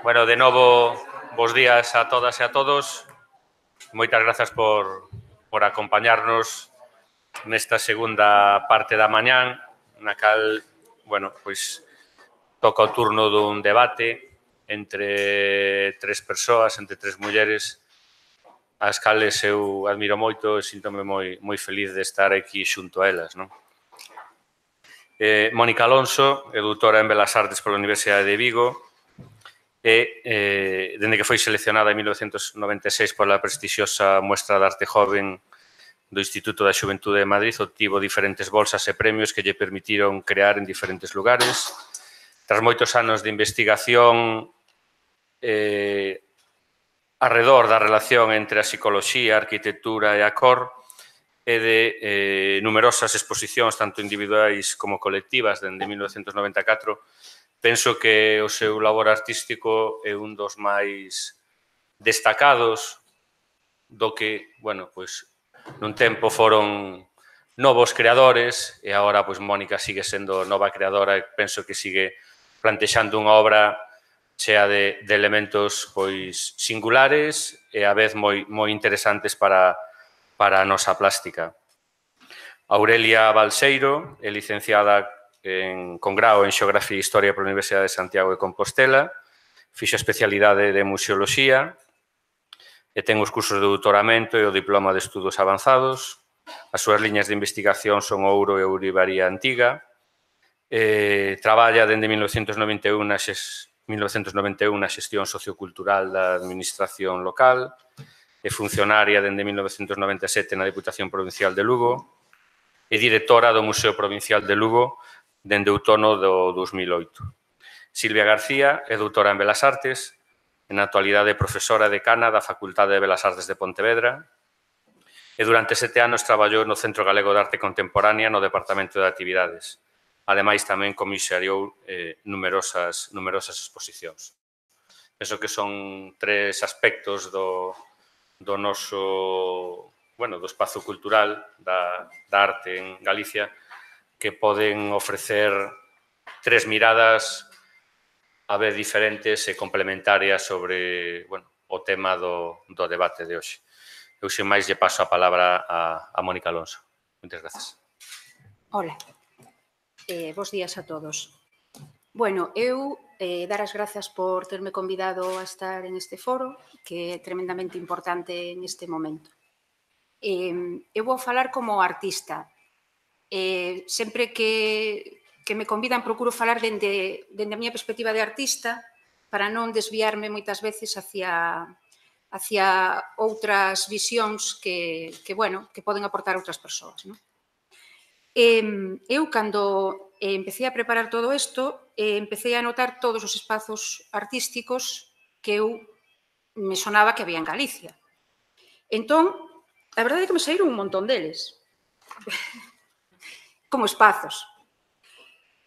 Bueno, de novo, bos días a todas e a todos. Moitas grazas por acompañarnos nesta segunda parte da mañán, na cal, bueno, pois toca o turno dun debate entre tres persoas, entre tres mulleres, as cales eu admiro moito e síntome moi feliz de estar aquí xunto a elas, non? Mónica Alonso é doutora en Belas Artes pola Universidade de Vigo e, dende que foi seleccionada en 1996 pola prestixiosa Muestra de Arte Joven do Instituto da Xuventude de Madrid, obtivo diferentes bolsas e premios que lle permitiron crear en diferentes lugares. Tras moitos anos de investigación arredor da relación entre a psicoloxía, a arquitectura e a cor, e de numerosas exposicións, tanto individuais como colectivas, dende 1994, penso que o seu labor artístico é un dos máis destacados do que, bueno, pois, nun tempo foron novos creadores e agora, pois, Mónica sigue sendo nova creadora e penso que sigue plantexando unha obra chea de elementos, pois, singulares e a vez moi interesantes para a nosa plástica. Aurelia Balseiro é licenciada con grao en Xeografía e Historia pola Universidade de Santiago de Compostela, fixo a especialidade de Museoloxía e ten os cursos de doutoramento e o diploma de estudos avanzados. As súas liñas de investigación son ouro e ourivaría antiga. Traballa dende 1991 na xestión sociocultural da administración local, é funcionaria dende 1997 na Deputación Provincial de Lugo e directora do Museo Provincial de Lugo dende outono do 2008. Silvia García é doutora en Belas Artes, en actualidade profesora decana da Facultade de Belas Artes de Pontevedra e durante 7 anos traballou no Centro Galego de Arte Contemporánea no Departamento de Actividades. Ademais, tamén comisariou numerosas exposicións. Penso que son tres aspectos do noso, bueno, do espazo cultural da arte en Galicia que poden ofrecer tres miradas a vez diferentes e complementarias sobre, bueno, o tema do debate de hoxe. Eu, sen máis, lle paso a palabra a Mónica Alonso. Moitas grazas. Hola, bos días a todos. Bueno, eu dar as grazas por terme convidado a estar en este foro, que é tremendamente importante en este momento. Eu vou falar como artista. Sempre que me convidan procuro falar dende a miña perspectiva de artista para non desviarme moitas veces hacia outras visións que poden aportar outras persoas. Eu, cando empecé a preparar todo isto, empecé a notar todos os espazos artísticos que eu me sonaba que había en Galicia. Entón, a verdade é que me saíron un montón deles. Como espazos.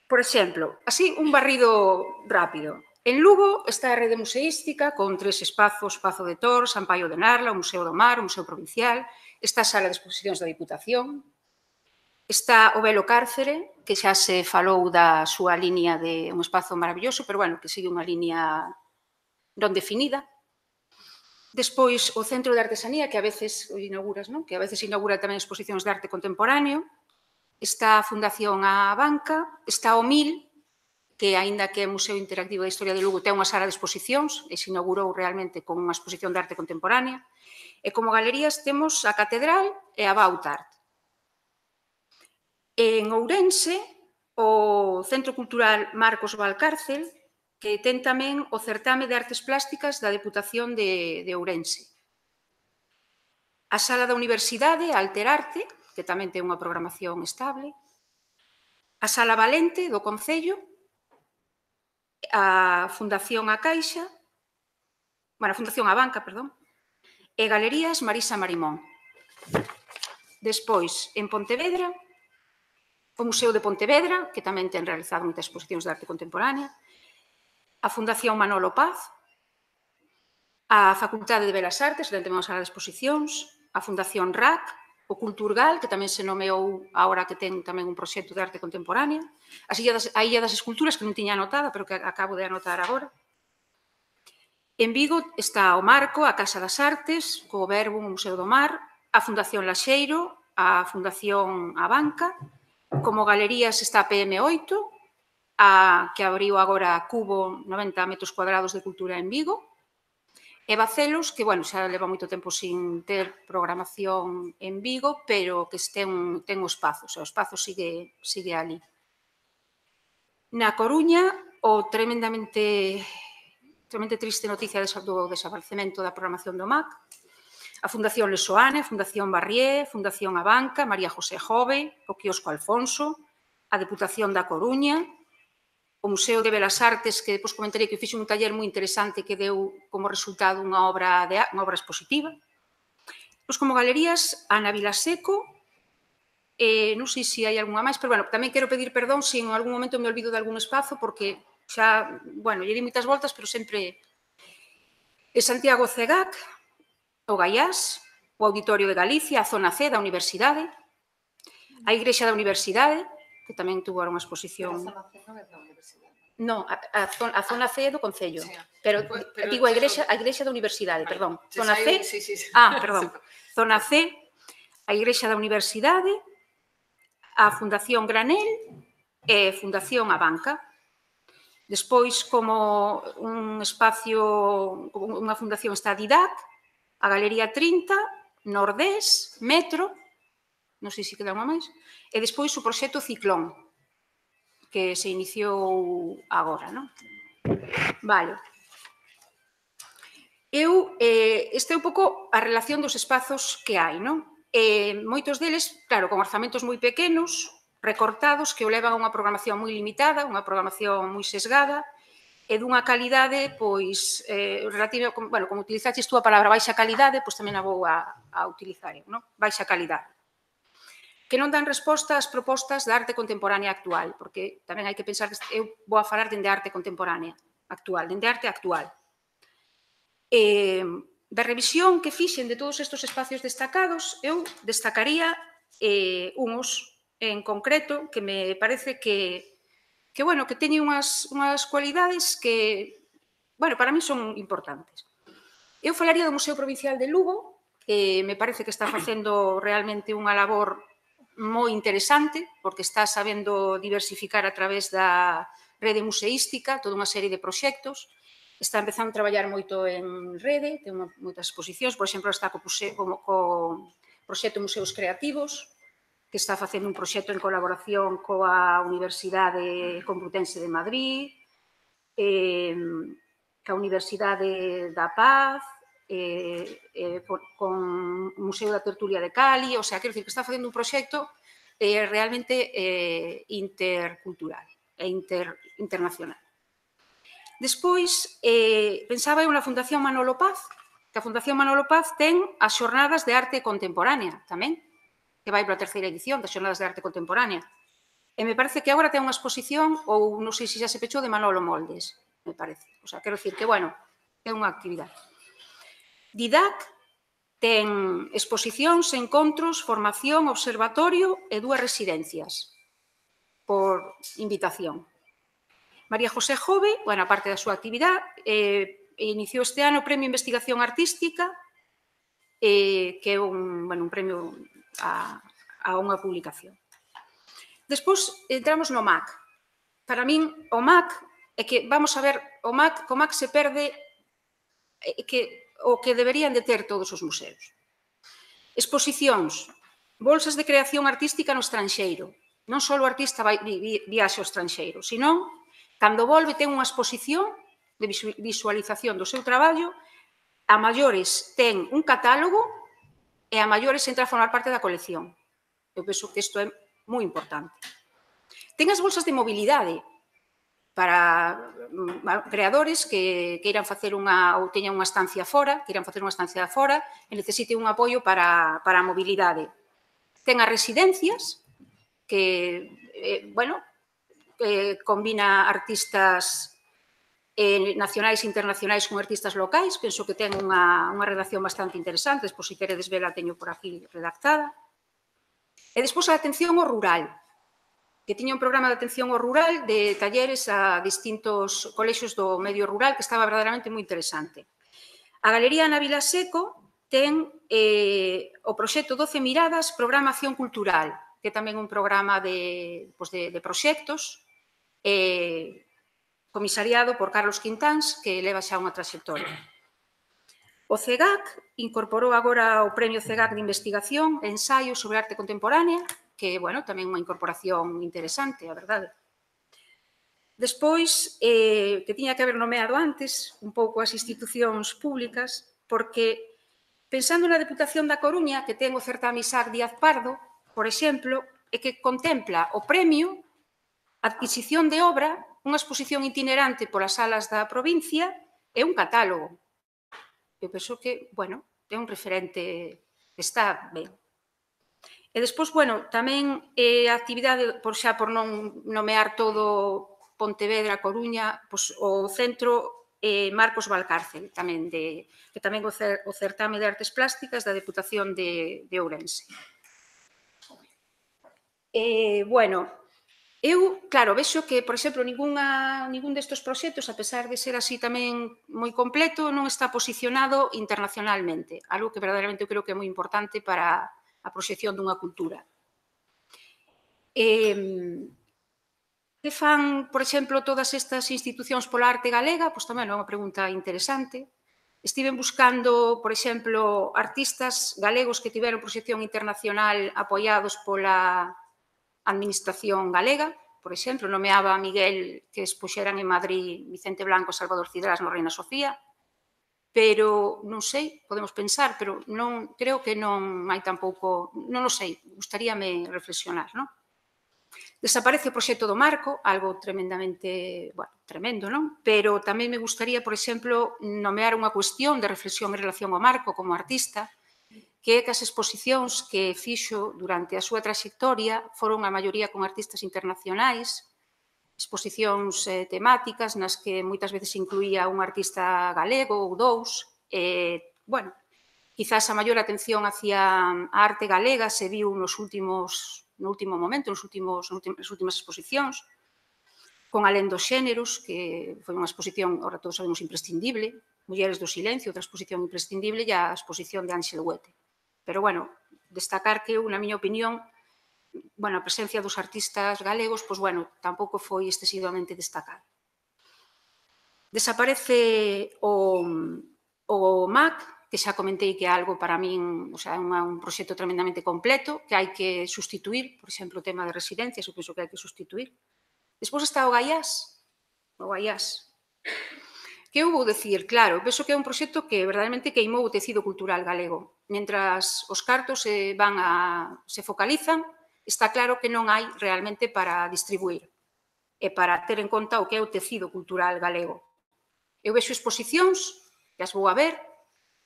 Por exemplo, así un barrido rápido. En Lugo está a rede museística con 3 espazos, Pazo de Tor, San Paio de Narla, o Museo do Mar, o Museo Provincial, está a Sala de Exposicións da Diputación, está o Velo Cárcere, que xa se falou da súa liña de un espazo maravilloso, pero, bueno, que sigue unha liña non definida. Despois, o Centro de Artesanía, que a veces inauguras, non? Que a veces inaugura tamén exposicións de arte contemporáneo. Está a Fundación A Banca, está o MIL, que, aínda que é Museo Interactivo da Historia de Lugo, ten unha sala de exposicións e se inaugurou realmente con unha exposición de arte contemporánea. E como galerías temos a Catedral e a Bautart. En Ourense, o Centro Cultural Marcos Valcárcel, que ten tamén o Certame de Artes Plásticas da Deputación de Ourense. A Sala da Universidade, Alterarte, que tamén ten unha programación estable, a Sala Valente do Concello, a Fundación A Caixa, bueno, a Fundación A Banca, perdón, e Galerías Marisa Marimón. Despois, en Pontevedra, o Museo de Pontevedra, que tamén ten realizado moitas exposicións de arte contemporánea, a Fundación Manolo Paz, a Facultade de Belas Artes, onde temos a sala de exposicións, a Fundación RAC, o Culturgal, que tamén se nomeou agora que ten tamén un proxecto de arte contemporánea, a Illa das Esculturas, que non tiña anotada, pero que acabo de anotar agora. En Vigo está o Marco, a Casa das Artes, co Verbo, o Museo do Mar, a Fundación Laxeiro, a Fundación A Banca, como galerías está a PM8, que abriu agora Cubo 90 metros cuadrados de cultura en Vigo, e Bacelos, que, bueno, xa leva moito tempo sin ter programación en Vigo, pero que ten o espazo sigue ali. Na Coruña, o tremendamente triste noticia do desaparecemento da programación do MAC, a Fundación Lesoane, a Fundación Barrié, a Fundación A Banca, María José Jove, o Quiosco Alfonso, a Deputación da Coruña, o Museo de Belas Artes, que depois comentarei que fixe un taller moi interesante que deu como resultado unha obra expositiva. Pois como galerías, Ana Vilaseco, non sei se hai algunha máis, pero, bueno, tamén quero pedir perdón se en algún momento me olvido de algún espazo, porque xa, bueno, lle di moitas voltas, pero sempre... Santiago Cegac, o Gaiás, o Auditorio de Galicia, a Zona C da Universidade, a Igrexa da Universidade, que tamén tuvo unha exposición... A zona C non é da universidade. Non, a Zona C é do Concello, pero digo a Igrexa da Universidade, perdón. Zona C... perdón. Zona C, a Igrexa da Universidade, a Fundación Granel e Fundación A Banca. Despois, como un espacio, unha fundación está a Didac, a Galería 30, Nordés, Metro, non sei se queda unha máis, e despois o proxecto Ciclón, que se iniciou agora, non? Vale. Este é un pouco a relación dos espazos que hai, non? Moitos deles, claro, con orzamentos moi pequenos, recortados, que o levan a unha programación moi limitada, unha programación moi sesgada, e dunha calidade, pois, relativa, bueno, como utilizaches tú a palabra baixa calidade, pois tamén a vou a utilizar, non? Baixa calidade. Que non dan resposta ás propostas da arte contemporánea actual, porque tamén hai que pensar que eu vou a falar dende arte contemporánea actual, dende arte actual. Da revisión que fixen de todos estes espacios destacados, eu destacaría uns en concreto que me parece que teñen unhas cualidades que, bueno, para mí son importantes. Eu falaría do Museo Provincial de Lugo, que me parece que está facendo realmente unha labor moi interesante, porque está sabendo diversificar a través da rede museística toda unha serie de proxectos, está empezando a traballar moito en rede, ten moitas exposicións, por exemplo, está co proxecto Museos Creativos, que está facendo un proxecto en colaboración coa Universidade Complutense de Madrid, ca Universidade da Paz, con o Museo da Tertulia de Cali, o sea, quero dicir que está facendo un proxecto realmente intercultural e internacional. Despois, pensaba eu na Fundación Manolo Paz, que a Fundación Manolo Paz ten as xornadas de arte contemporánea tamén, que vai para a terceira edición das xornadas de arte contemporánea. E me parece que agora ten unha exposición, ou non sei se xa se pechou, de Manolo Moldes, me parece. O sea, quero dicir que, bueno, é unha actividade. Didac ten exposicións, encontros, formación, observatorio e 2 residencias por invitación. María José Jove, bueno, a parte da súa actividade, iniciou este ano o Premio Investigación Artística, que é un premio a unha publicación. Despois entramos no MAC. Para min, o MAC é que, vamos a ver, co MAC se perde o que deberían de ter todos os museos. Exposicións, bolsas de creación artística no estranxeiro. Non só o artista viaxe ao estranxeiro, senón, cando volve, ten unha exposición de visualización do seu traballo, a maiores ten un catálogo e a maiores entra a formar parte da colección. Eu penso que isto é moi importante. Ten as bolsas de mobilidade para creadores que queiran facer ou teñan unha estancia fora, e necesiten un apoio para a mobilidade. Ten as residencias, que, bueno, combina artistas nacionais e internacionais con artistas locais, penso que ten unha redacción bastante interesante, despois, se queredes vela, teño por aquí redactada. E despois a atención ao rural, que tiña un programa de atención ao rural de talleres a distintos colexios do medio rural que estaba verdadeiramente moi interesante. A Galería Ana Vilaseco ten o proxecto 12 Miradas, Programa Acción Cultural, que é tamén un programa de proxectos comisariado por Carlos Quintáns, que leva xa unha trayectoria. O CEGAC incorporou agora o Premio CEGAC de Investigación e Ensaio sobre Arte Contemporánea, que, bueno, tamén unha incorporación interesante, a verdade. Despois, que tiña que haber nomeado antes, un pouco as institucións públicas, porque, pensando na Deputación da Coruña, que ten o certame Isaac Díaz Pardo, por exemplo, e que contempla o premio adquisición de obra, unha exposición itinerante polas salas da provincia e un catálogo. Eu penso que, bueno, é un referente que está ben. E despois, bueno, tamén a actividade, xa por non nomear todo Pontevedra, Coruña, o Centro Marcos Valcárcel, que tamén o certame de artes plásticas da Deputación de Ourense. Bueno, eu, claro, vexo que, por exemplo, ningún destes proxectos, a pesar de ser así tamén moi completo, non está posicionado internacionalmente, algo que verdadeiramente eu creo que é moi importante para a proxección dunha cultura. Que fan, por exemplo, todas estas institucións pola arte galega? Pois tamén é unha pregunta interesante. Estiven buscando, por exemplo, artistas galegos que tiveron proxección internacional apoiados pola Administración galega, por exemplo, nomeaba a Miguel, que expuxeran en Madrid Vicente Blanco e Salvador Cidrás no Reina Sofía, pero non sei, podemos pensar, pero non creo que non hai tampouco, non o sei, gustaríame reflexionar, non? Desaparece o proxecto do Marco, algo tremendamente, bueno, tremendo, non? Pero tamén me gustaría, por exemplo, nomear unha cuestión de reflexión en relación ao Marco como artista, que é que as exposicións que fixo durante a súa trayectoria foron a maioría con artistas internacionais, exposicións temáticas nas que moitas veces incluía un artista galego ou dous. Bueno, quizás a maior atención hacia a arte galega se viu no último momento, nas últimas exposicións, con Alén dos Xéneros, que foi unha exposición, ahora todos sabemos, imprescindible, Mulleres do Silencio, outra exposición imprescindible, e a exposición de Ángel Huete. Pero, bueno, destacar que eu, na miña opinión, bueno, a presencia dos artistas galegos, pois, bueno, tampouco foi excesivamente destacada. Desaparece o MAC, que xa comentei que é algo para min, o sea, é un proxecto tremendamente completo, que hai que sustituir, por exemplo, o tema de residencias, eu penso que hai que sustituir. Despois está o Gaiás, que eu vou dicir, claro, penso que é un proxecto que verdadeiramente queimou o tecido cultural galego. Mentras os cartos se focalizan, está claro que non hai realmente para distribuir e para ter en conta o que é o tecido cultural galego. Eu vexo exposicións, que as vou a ver,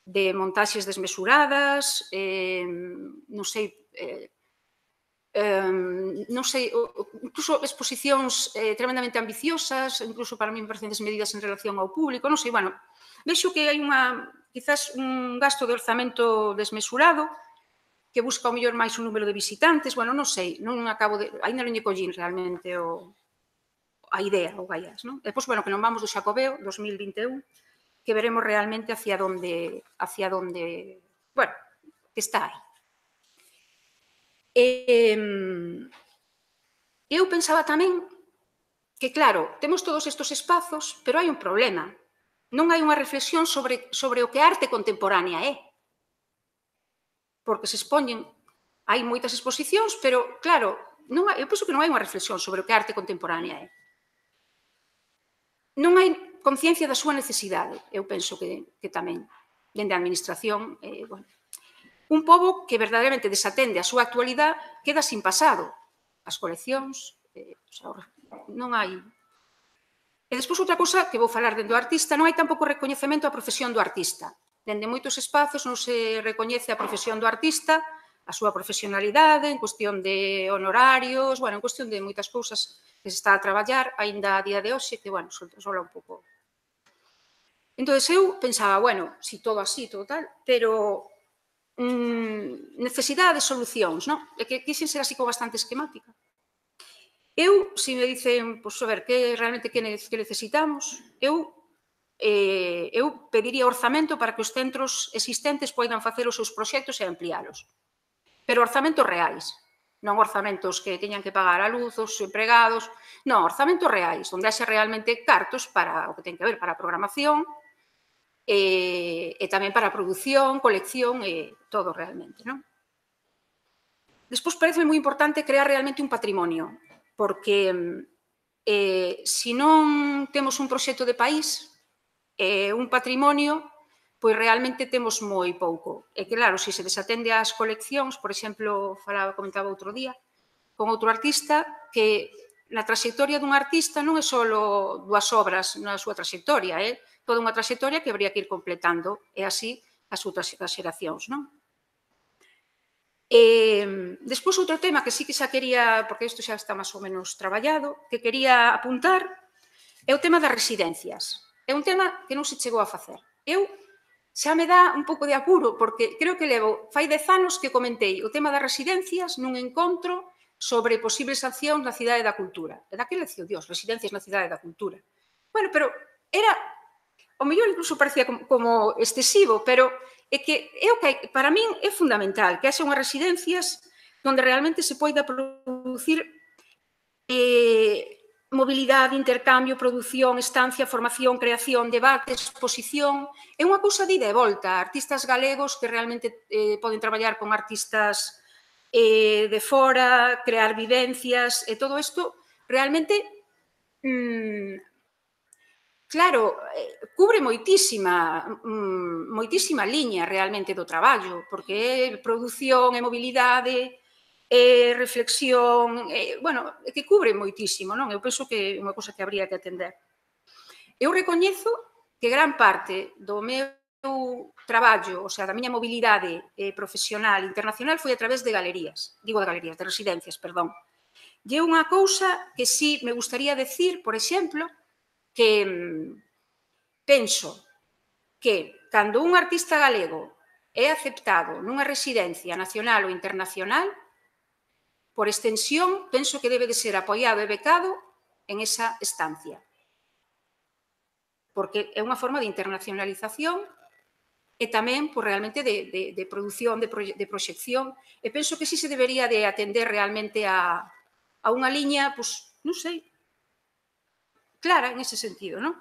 de montaxes desmesuradas, non sei, incluso exposicións tremendamente ambiciosas, incluso para mí me parecen desmedidas en relación ao público, non sei, bueno, vexo que hai quizás un gasto de orzamento desmesurado, que busca o mellor máis un número de visitantes, bueno, non sei, ainda non lle collín realmente a idea, o Gaiás, non? Depois, bueno, que non vamos do Xacobeo 2021, que veremos realmente hacia donde, bueno, que está aí. Eu pensaba tamén que, claro, temos todos estes espazos, pero hai un problema. Non hai unha reflexión sobre o que a arte contemporánea é. Porque se expoñen, hai moitas exposicións, pero, claro, eu penso que non hai unha reflexión sobre o que a arte contemporánea é. Non hai conciencia da súa necesidade, eu penso que tamén, dende a administración, bueno, un pobo que verdadeiramente desatende a súa actualidade queda sin pasado. As coleccións, non hai. E despois outra cousa que vou falar dentro do artista, non hai tampouco recoñecemento á profesión do artista. Dende moitos espazos non se recoñece a profesión do artista, a súa profesionalidade, en cuestión de honorarios, bueno, en cuestión de moitas cousas que se está a traballar, aínda a día de hoxe, que, bueno, sola un pouco Entón, eu pensaba, bueno, si todo así, todo tal, pero necesidade de solucións, non? E que quixen ser así como bastante esquemática. Eu, se me dicen, pois, a ver, que realmente que necesitamos, eu pediría orzamento para que os centros existentes poidan facer os seus proxectos e ampliálos. Pero orzamentos reais, non orzamentos que teñan que pagar a luz, os empregados, non, orzamentos reais, onde haxe realmente cartos para o que ten que ver para a programación e tamén para a produción, colección e todo realmente, non? Despois parece moi importante crear realmente un patrimonio, porque se non temos un proxecto de país, un patrimonio, pois realmente temos moi pouco. E que, claro, se se desatende ás coleccións, por exemplo, comentaba outro día, con outro artista, que na trayectoria dun artista non é só 2 obras na súa trayectoria, é toda unha trayectoria que habría que ir completando, e así as outras xeracións, non? Despois, outro tema que sí que xa quería, porque isto xa está máis ou menos traballado, que quería apuntar, é o tema das residencias. É un tema que non se chegou a facer. Eu xa me dá un pouco de apuro, porque creo que fai 10 anos que comentei o tema das residencias nun encontro sobre posibles accións na Cidade da Cultura. E daquele dicía, Dios, residencias na Cidade da Cultura. Bueno, pero era, o mellor incluso parecía como excesivo, pero é que para min é fundamental que haxa unhas residencias onde realmente se poida producir mobilidade, intercambio, produción, estancia, formación, creación, debate, exposición. É unha cousa de ida e volta. Artistas galegos que realmente poden traballar con artistas de fora, crear vivencias, e todo isto realmente, claro, cubre moitísima liña realmente do traballo, porque é produción, é mobilidade, reflexión, bueno, que cubre moitísimo, non? Eu penso que é unha cosa que habría que atender. Eu recoñezo que gran parte do meu traballo, o sea, da miña mobilidade profesional internacional foi a través de galerías, de residencias, perdón. E é unha cousa que sí me gustaría decir, por exemplo, que penso que cando un artista galego é aceptado nunha residencia nacional ou internacional, por extensión, penso que debe de ser apoiado e becado en esa estancia. Porque é unha forma de internacionalización e tamén realmente de produción, de proxección. E penso que sí se debería de atender realmente a unha liña, non sei, clara en ese sentido, non?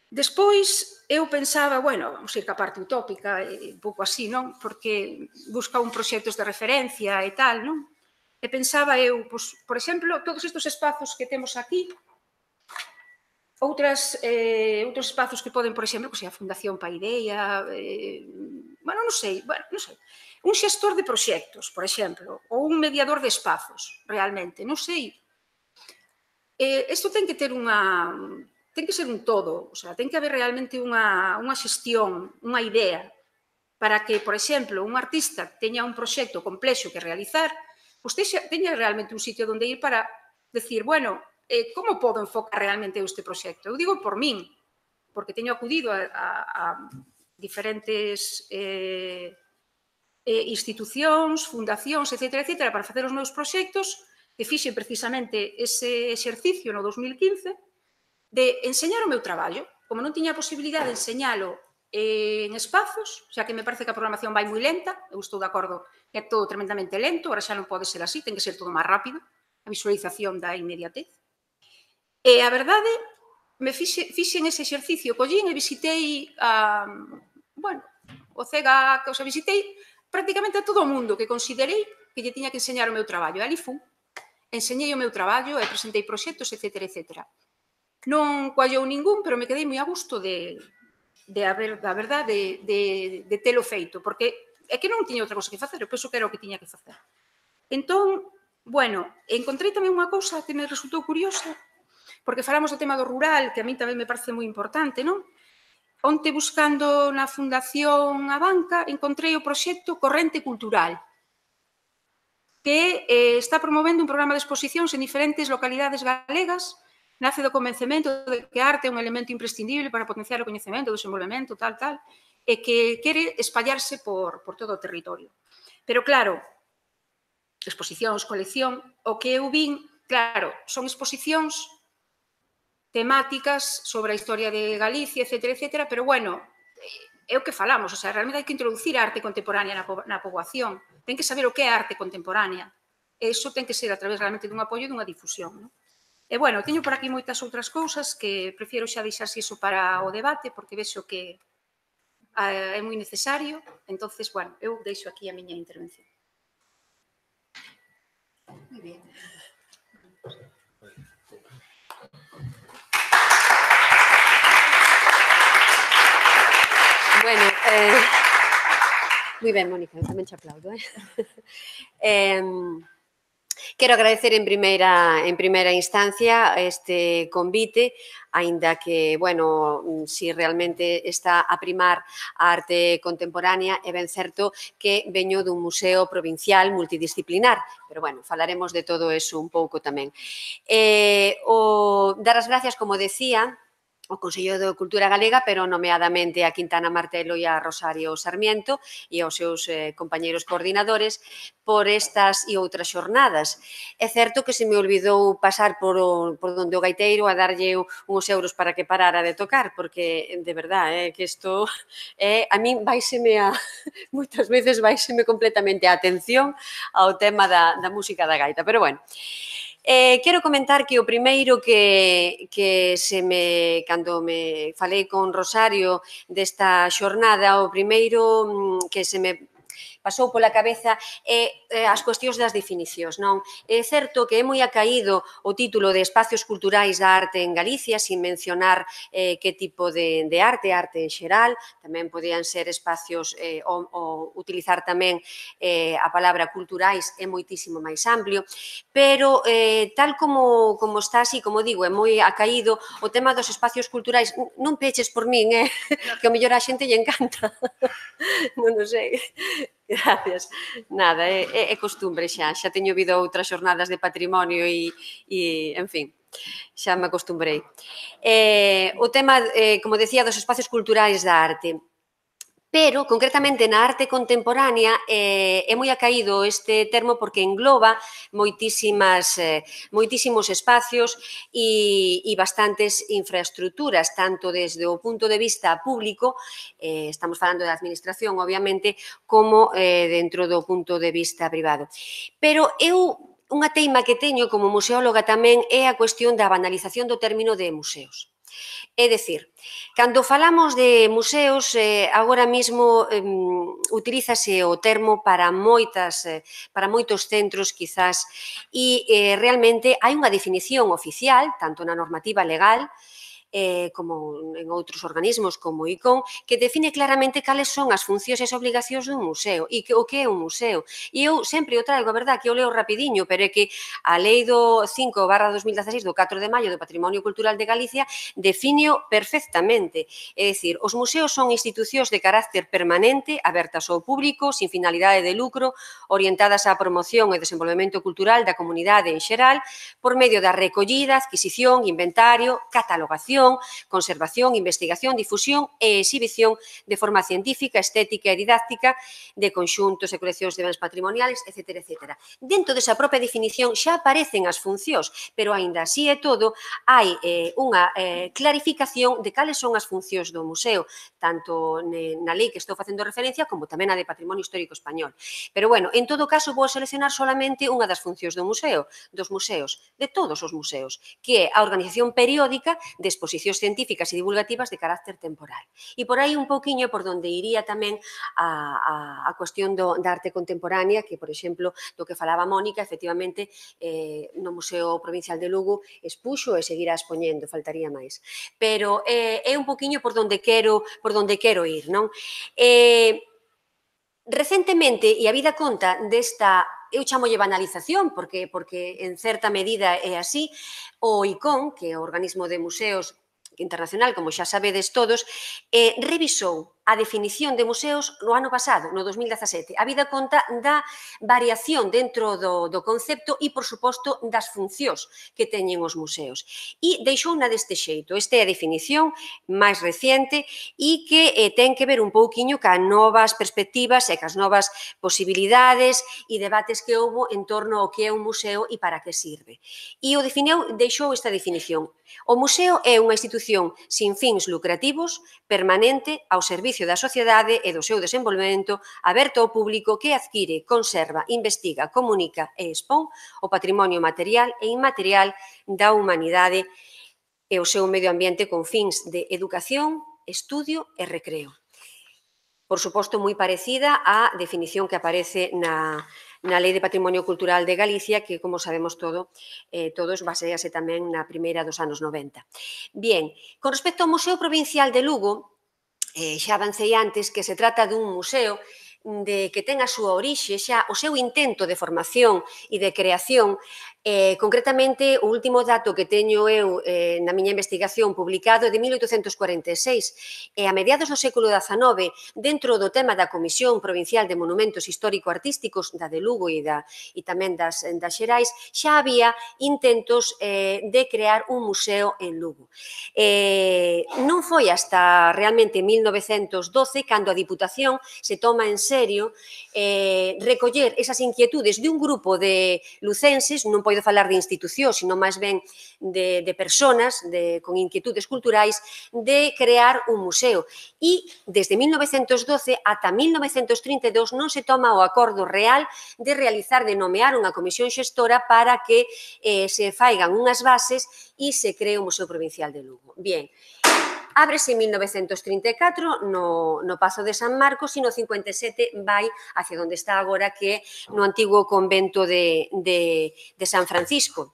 Despois, eu pensaba, bueno, vamos ir ca parte utópica, un pouco así, non? Porque busca un proxectos de referencia e tal, non? E pensaba eu, por exemplo, todos estes espazos que temos aquí, outros espazos que poden, por exemplo, a Fundación Paideia, bueno, non sei, un xestor de proxectos, por exemplo, ou un mediador de espazos, realmente, non sei. Isto ten que ter ten que ser un todo, o sea, ten que haber realmente unha xestión, unha idea, para que, por exemplo, un artista teña un proxecto complexo que realizar, pois teña realmente un sitio onde ir para decir, bueno, como podo enfocar realmente este proxecto? Eu digo por min, porque teño acudido a diferentes institucións, fundacións, etcétera, para facer os meus proxectos, que fixen precisamente ese exercicio no 2015, de enseñar o meu traballo. Como non tiña a posibilidade de enseñalo en espazos, xa que me parece que a programación vai moi lenta, eu estou de acordo que é todo tremendamente lento, agora xa non pode ser así, ten que ser todo máis rápido, a visualización da inmediatez. E a verdade, fixen ese exercicio, collín e visitei o CEGAC, visitei prácticamente a todo o mundo que considerei que lle tiña que enseñar o meu traballo. E ali fun, enseñei o meu traballo e presentei proxectos, etcétera. Non coallou ningún, pero me quedei moi a gusto da verdade, de telo feito, porque é que non tiña outra cosa que facer, eu penso que era o que tiña que facer. Entón, bueno, encontrei tamén unha cousa que me resultou curiosa, porque falamos do tema do rural, que a mí tamén me parece moi importante, non? Onte, buscando na Fundación Abanca, encontrei o proxecto Corrente Cultural, que está promovendo un programa de exposicións en diferentes localidades galegas nace do convencemento de que a arte é un elemento imprescindible para potenciar o coñecemento, o desenvolvemento, tal, e que quere espallarse por todo o territorio. Pero, claro, exposicións, colección, o que eu vin, claro, son exposicións temáticas sobre a historia de Galicia, etcétera, pero, bueno, é o que falamos, o sea, realmente hai que introducir a arte contemporánea na poboación, ten que saber o que é a arte contemporánea, e iso ten que ser a través realmente dun apoio e dunha difusión, non? E, bueno, teño por aquí moitas outras cousas que prefiero xa deixarse iso para o debate, porque vexo que é moi necesario, entonces, bueno, eu deixo aquí a miña intervención. Moi bien. Bueno, moi ben, Mónica, tamén te aplaudo. Quero agradecer en primeira instancia este convite, aínda que, bueno, si realmente está a primar a arte contemporánea, é ben certo que veño dun museo provincial multidisciplinar, pero, bueno, falaremos de todo eso un pouco tamén. Dar as gracias, como decía, o Consello de Cultura Galega, pero nomeadamente a Quintana Martelo e a Rosario Sarmiento e aos seus compañeiros coordinadores por estas e outras xornadas. É certo que se me olvidou pasar por donde o gaiteiro a darlle uns euros para que parara de tocar, porque, de verdade, que isto a min moitas veces vaiseme completamente a atención ao tema da música da gaita, pero, bueno, quero comentar que o primeiro cando me falei con Rosario desta xornada, o primeiro que se me pasou pola cabeza as cuestións das definicións, non? É certo que é moi acaído o título de Espacios Culturais da Arte en Galicia, sin mencionar que tipo de arte en xeral, tamén podían ser espacios, ou utilizar tamén a palabra culturais é moitísimo máis amplio, pero tal como está así, como digo, é moi acaído o tema dos espacios culturais, non peches por min, que ao mellor a xente lle encanta, non o sei. Gracias. Nada, é costumbre xa teño vido outras xornadas de patrimonio e, en fin, xa me acostumbrei. O tema, como decía, dos espacios culturais da arte. Pero, concretamente, na arte contemporánea é moi acaído este termo porque engloba moitísimos espacios e bastantes infraestructuras, tanto desde o punto de vista público, estamos falando da administración, obviamente, como dentro do punto de vista privado. Pero unha teima que teño como museóloga tamén é a cuestión da banalización do término de museos. É dicir, cando falamos de museos, agora mesmo utilízase o termo para moitos centros, quizás, e realmente hai unha definición oficial, tanto na normativa legal, como en outros organismos como o ICON, que define claramente cales son as funcións e as obligacións dun museo e o que é un museo. E eu sempre o traigo, a verdad, que eu leo rapidiño, pero é que a Lei do 5/2016 do 4 de maio do Patrimonio Cultural de Galicia define perfectamente. É dicir, os museos son institucións de carácter permanente, abertas ao público, sin finalidade de lucro, orientadas á promoción e desenvolvemento cultural da comunidade en xeral, por medio da recollida, adquisición, inventario, catalogación, conservación, investigación, difusión e exhibición de forma científica, estética e didáctica de conxuntos e coleccións de bens patrimoniales, etc. Dentro desa propia definición xa aparecen as funcións, pero aínda así e todo hai unha clarificación de cales son as funcións do museo, tanto na lei que estou facendo referencia como tamén a de Patrimonio Histórico Español. Pero, bueno, en todo caso, vou seleccionar solamente unha das funcións dos museos, de todos os museos, que é a organización periódica de exposicións científicas e divulgativas de carácter temporal. E por aí un pouquiño por donde iría tamén a cuestión da arte contemporánea, que, por exemplo, do que falaba Mónica, efectivamente, no Museo Provincial de Lugo expuxo e seguirá expoñendo, faltaría máis. Pero é un pouquiño por donde quero ir, non? Recentemente, e a vida conta desta, eu chamolle banalización, porque en certa medida é así, o ICON, que é o Organismo de Museos Internacional, como xa sabedes todos, revisou a definición de museos no ano pasado, no 2017. Habida conta da variación dentro do concepto e, por suposto, das funcións que teñen os museos. E deixouna deste xeito. Esta é a definición máis reciente e que ten que ver un pouquiño ca novas perspectivas e cas novas posibilidades e debates que houbo en torno ao que é un museo e para que sirve. E o definiu, deixou esta definición. O museo é unha institución sin fins lucrativos, permanente, ao servicio da sociedade e do seu desenvolvemento, aberto ao público que adquire, conserva, investiga, comunica e expón o patrimonio material e inmaterial da humanidade e o seu medio ambiente con fins de educación, estudio e recreo. Por suposto, moi parecida á definición que aparece na Lei de Patrimonio Cultural de Galicia, que, como sabemos todos, basease tamén na primeira dos anos 90. Bien, con respecto ao Museo Provincial de Lugo, xa avancei antes que se trata dun museo que ten a súa orixe, xa o seu intento de formación e de creación. Concretamente, o último dato que teño eu na miña investigación publicado é de 1846, e a mediados do século XIX, dentro do tema da Comisión Provincial de Monumentos Histórico-Artísticos, da de Lugo e tamén das Xerais, xa había intentos de crear un museo en Lugo. Non foi hasta realmente 1912 cando a Diputación se toma en serio recoller esas inquietudes de un grupo de lucenses, non podo falar de institucións, sino máis ben de personas con inquietudes culturais, de crear un museo. E desde 1912 ata 1932 non se toma o acordo real de realizar, de nomear unha comisión xestora para que se faigan unhas bases e se cree o Museo Provincial de Lugo. Bien, ábrese en 1934 no Pazo de San Marcos e no 57 vai hacia onde está agora, que é no antigo convento de San Francisco,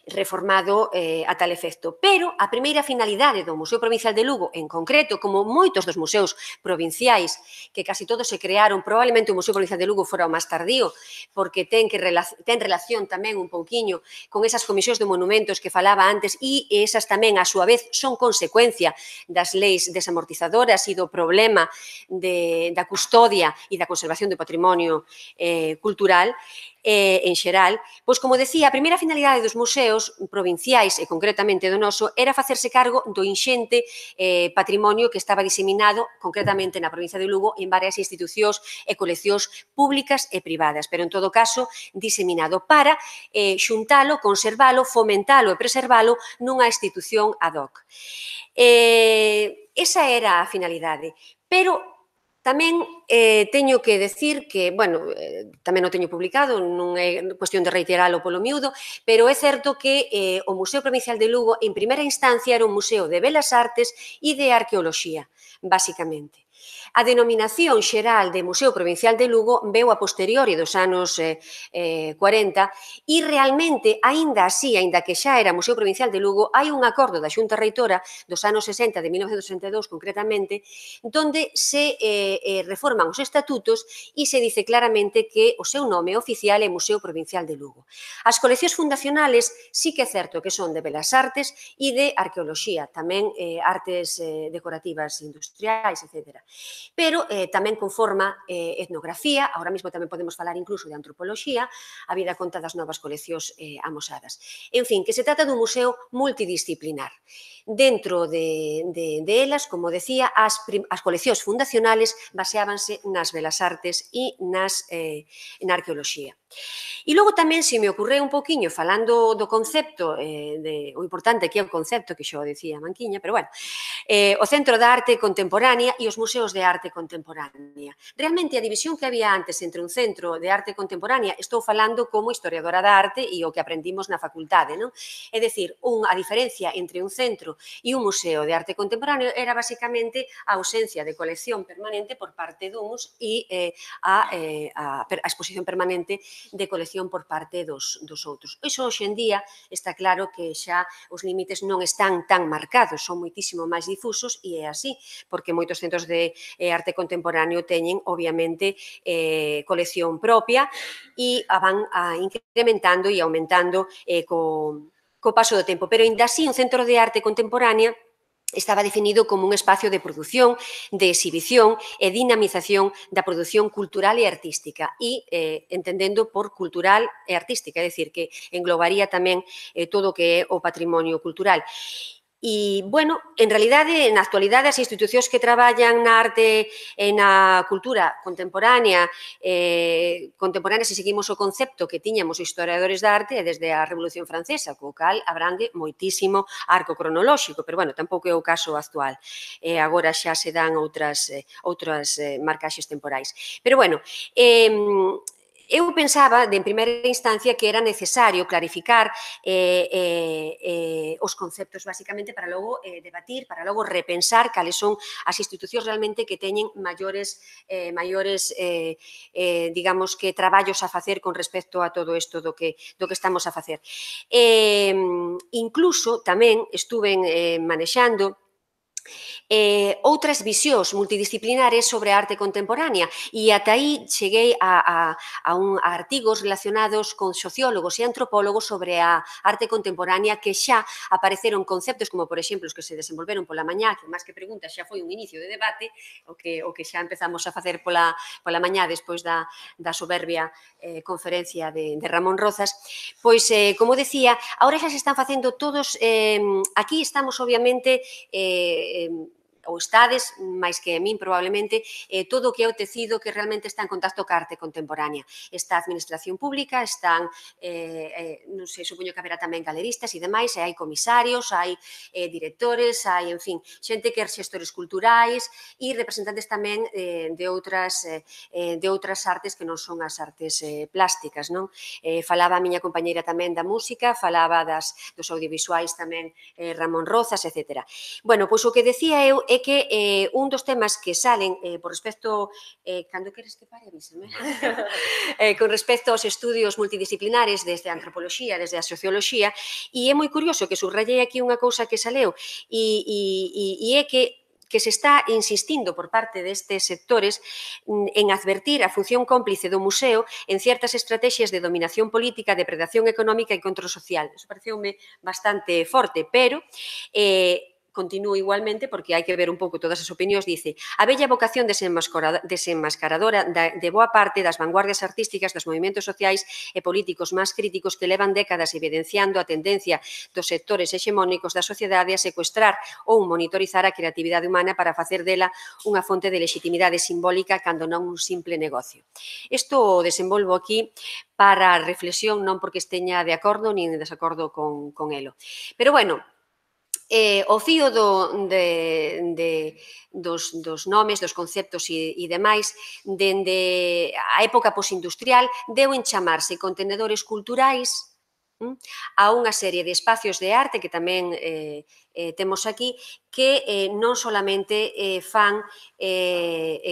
reformado a tal efecto. Pero a primeira finalidade do Museo Provincial de Lugo, en concreto, como moitos dos museos provinciais, que casi todos se crearon, probablemente o Museo Provincial de Lugo fora o máis tardío, porque ten relación tamén un pouquiño con esas comisións de monumentos que falaba antes, e esas tamén, a súa vez, son consecuencia das leis desamortizadoras e do problema da custodia e da conservación do patrimonio cultural en xeral. Pois, como decía, a primeira finalidade dos museos provinciais, e concretamente do noso, era facerse cargo do inxente patrimonio que estaba diseminado, concretamente na provincia de Lugo, en varias institucións e coleccións públicas e privadas, pero en todo caso diseminado para xuntalo, conservalo, fomentalo e preservalo nunha institución ad hoc. Esa era a finalidade, pero tamén teño que decir que, bueno, tamén o teño publicado, non é cuestión de reiteralo polo miúdo, pero é certo que o Museo Provincial de Lugo, en primeira instancia, era un museo de belas artes e de arqueoloxía, basicamente. A denominación xeral de Museo Provincial de Lugo veu a posteriori dos anos 40 e realmente, aínda así, aínda que xa era Museo Provincial de Lugo, hai un acordo da Xunta Reitora dos anos 60, de 1962 concretamente, donde se reforman os estatutos e se dice claramente que o seu nome oficial é Museo Provincial de Lugo. As coleccións fundacionales sí que é certo que son de belas artes e de arqueoloxía, tamén artes decorativas industriais, etc. Pero tamén conforma etnografía, agora mesmo tamén podemos falar incluso de antropoloxía, habida conta das novas coleccións amosadas. En fin, que se trata dun museo multidisciplinar. Dentro de elas, como decía, as coleccións fundacionales baseábanse nas belas artes e na arqueoloxía. E logo tamén se me ocorreu un poquinho, falando do concepto, o importante que é o concepto, que xa o decía Manquiña, pero bueno, o Centro da Arte Contemporánea e os museos de arte contemporánea. Realmente a división que había antes entre un centro de arte contemporánea, estou falando como historiadora da arte e o que aprendimos na facultade, non? É dicir, a diferencia entre un centro e un museo de arte contemporáneo era basicamente a ausencia de colección permanente por parte duns e a exposición permanente de colección por parte dos outros. Iso hoxe en día está claro que xa os límites non están tan marcados, son moitísimo máis difusos e é así, porque moitos centros de arte contemporáneo teñen, obviamente, colección propia e van incrementando e aumentando co paso do tempo. Pero, ainda así, un centro de arte contemporánea estaba definido como un espacio de produción, de exhibición e dinamización da produción cultural e artística e entendendo por cultural e artística, é dicir, que englobaría tamén todo o que é o patrimonio cultural. E, bueno, en realidade, na actualidade, as institucións que traballan na arte e na cultura contemporánea, se seguimos o concepto que tiñamos os historiadores da arte desde a Revolución Francesa, co cal abrangue moitísimo arco cronolóxico, pero, bueno, tampouco é o caso actual. Agora xa se dan outras marcaxes temporais. Pero, bueno, eu pensaba, en primeira instancia, que era necesario clarificar os conceptos, basicamente, para logo debatir, para logo repensar cales son as institucións realmente que teñen maiores, digamos que, traballos a facer con respecto a todo isto do que estamos a facer. Incluso, tamén, estuven manexando outras visións multidisciplinares sobre a arte contemporánea e ata aí cheguei a artigos relacionados con sociólogos e antropólogos sobre a arte contemporánea que xa apareceron conceptos como, por exemplo, os que se desenvolveron pola mañá, que máis que preguntas xa foi un inicio de debate, o que xa empezamos a facer pola mañá despois da soberbia conferencia de Ramón Rozas, pois, como decía, agora xa se están facendo todos, aquí estamos, obviamente, ou estades, máis que a min probablemente, todo o que é o tecido que realmente está en contacto ca arte contemporánea. Está a administración pública, están, non sei, supoño que haberá tamén galeristas e demais, e hai comisarios, hai directores, hai, en fin, xente que é xestores culturais e representantes tamén de outras artes que non son as artes plásticas, non? Falaba a miña compañeira tamén da música, falaba dos audiovisuais tamén Ramón Rozas, etc. Bueno, pois o que decía eu é que un dos temas que salen por respecto, cando queres que pare, avísame, con respecto aos estudios multidisciplinares desde a antropoloxía, desde a socioloxía, e é moi curioso que subrayei aquí unha cousa que saleu e é que se está insistindo por parte destes sectores en advertir a función cómplice do museo en certas estrategias de dominación política, depredación económica e control social. Eso pareceume bastante forte, pero continúo igualmente, porque hai que ver un pouco todas as opinións, dice: a bella vocación desenmascaradora de boa parte das vanguardias artísticas dos movimentos sociais e políticos máis críticos que levan décadas evidenciando a tendencia dos sectores hexemónicos da sociedade a secuestrar ou monitorizar a creatividade humana para facer dela unha fonte de legitimidade simbólica cando non un simple negocio. Isto o desenvolvo aquí para a reflexión, non porque esteña de acordo nin de desacordo con elo. Pero, bueno, o fío dos nomes, dos conceptos e demais, dende a época posindustrial, deu en chamarse contenedores culturais a unha serie de espacios de arte que tamén temos aquí, que non solamente fan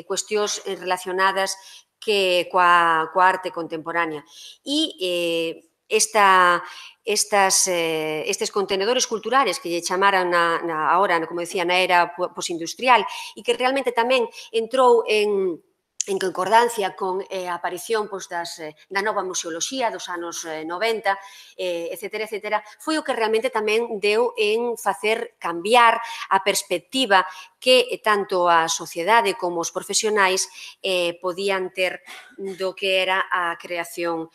cuestións relacionadas coa arte contemporánea. E estes contenedores culturales que lle chamaran agora, como decía, na era posindustrial e que realmente tamén entrou en concordancia con a aparición da nova museoloxía dos anos 90, etc., foi o que realmente tamén deu en facer cambiar a perspectiva que tanto a sociedade como os profesionais podían ter do que era a creación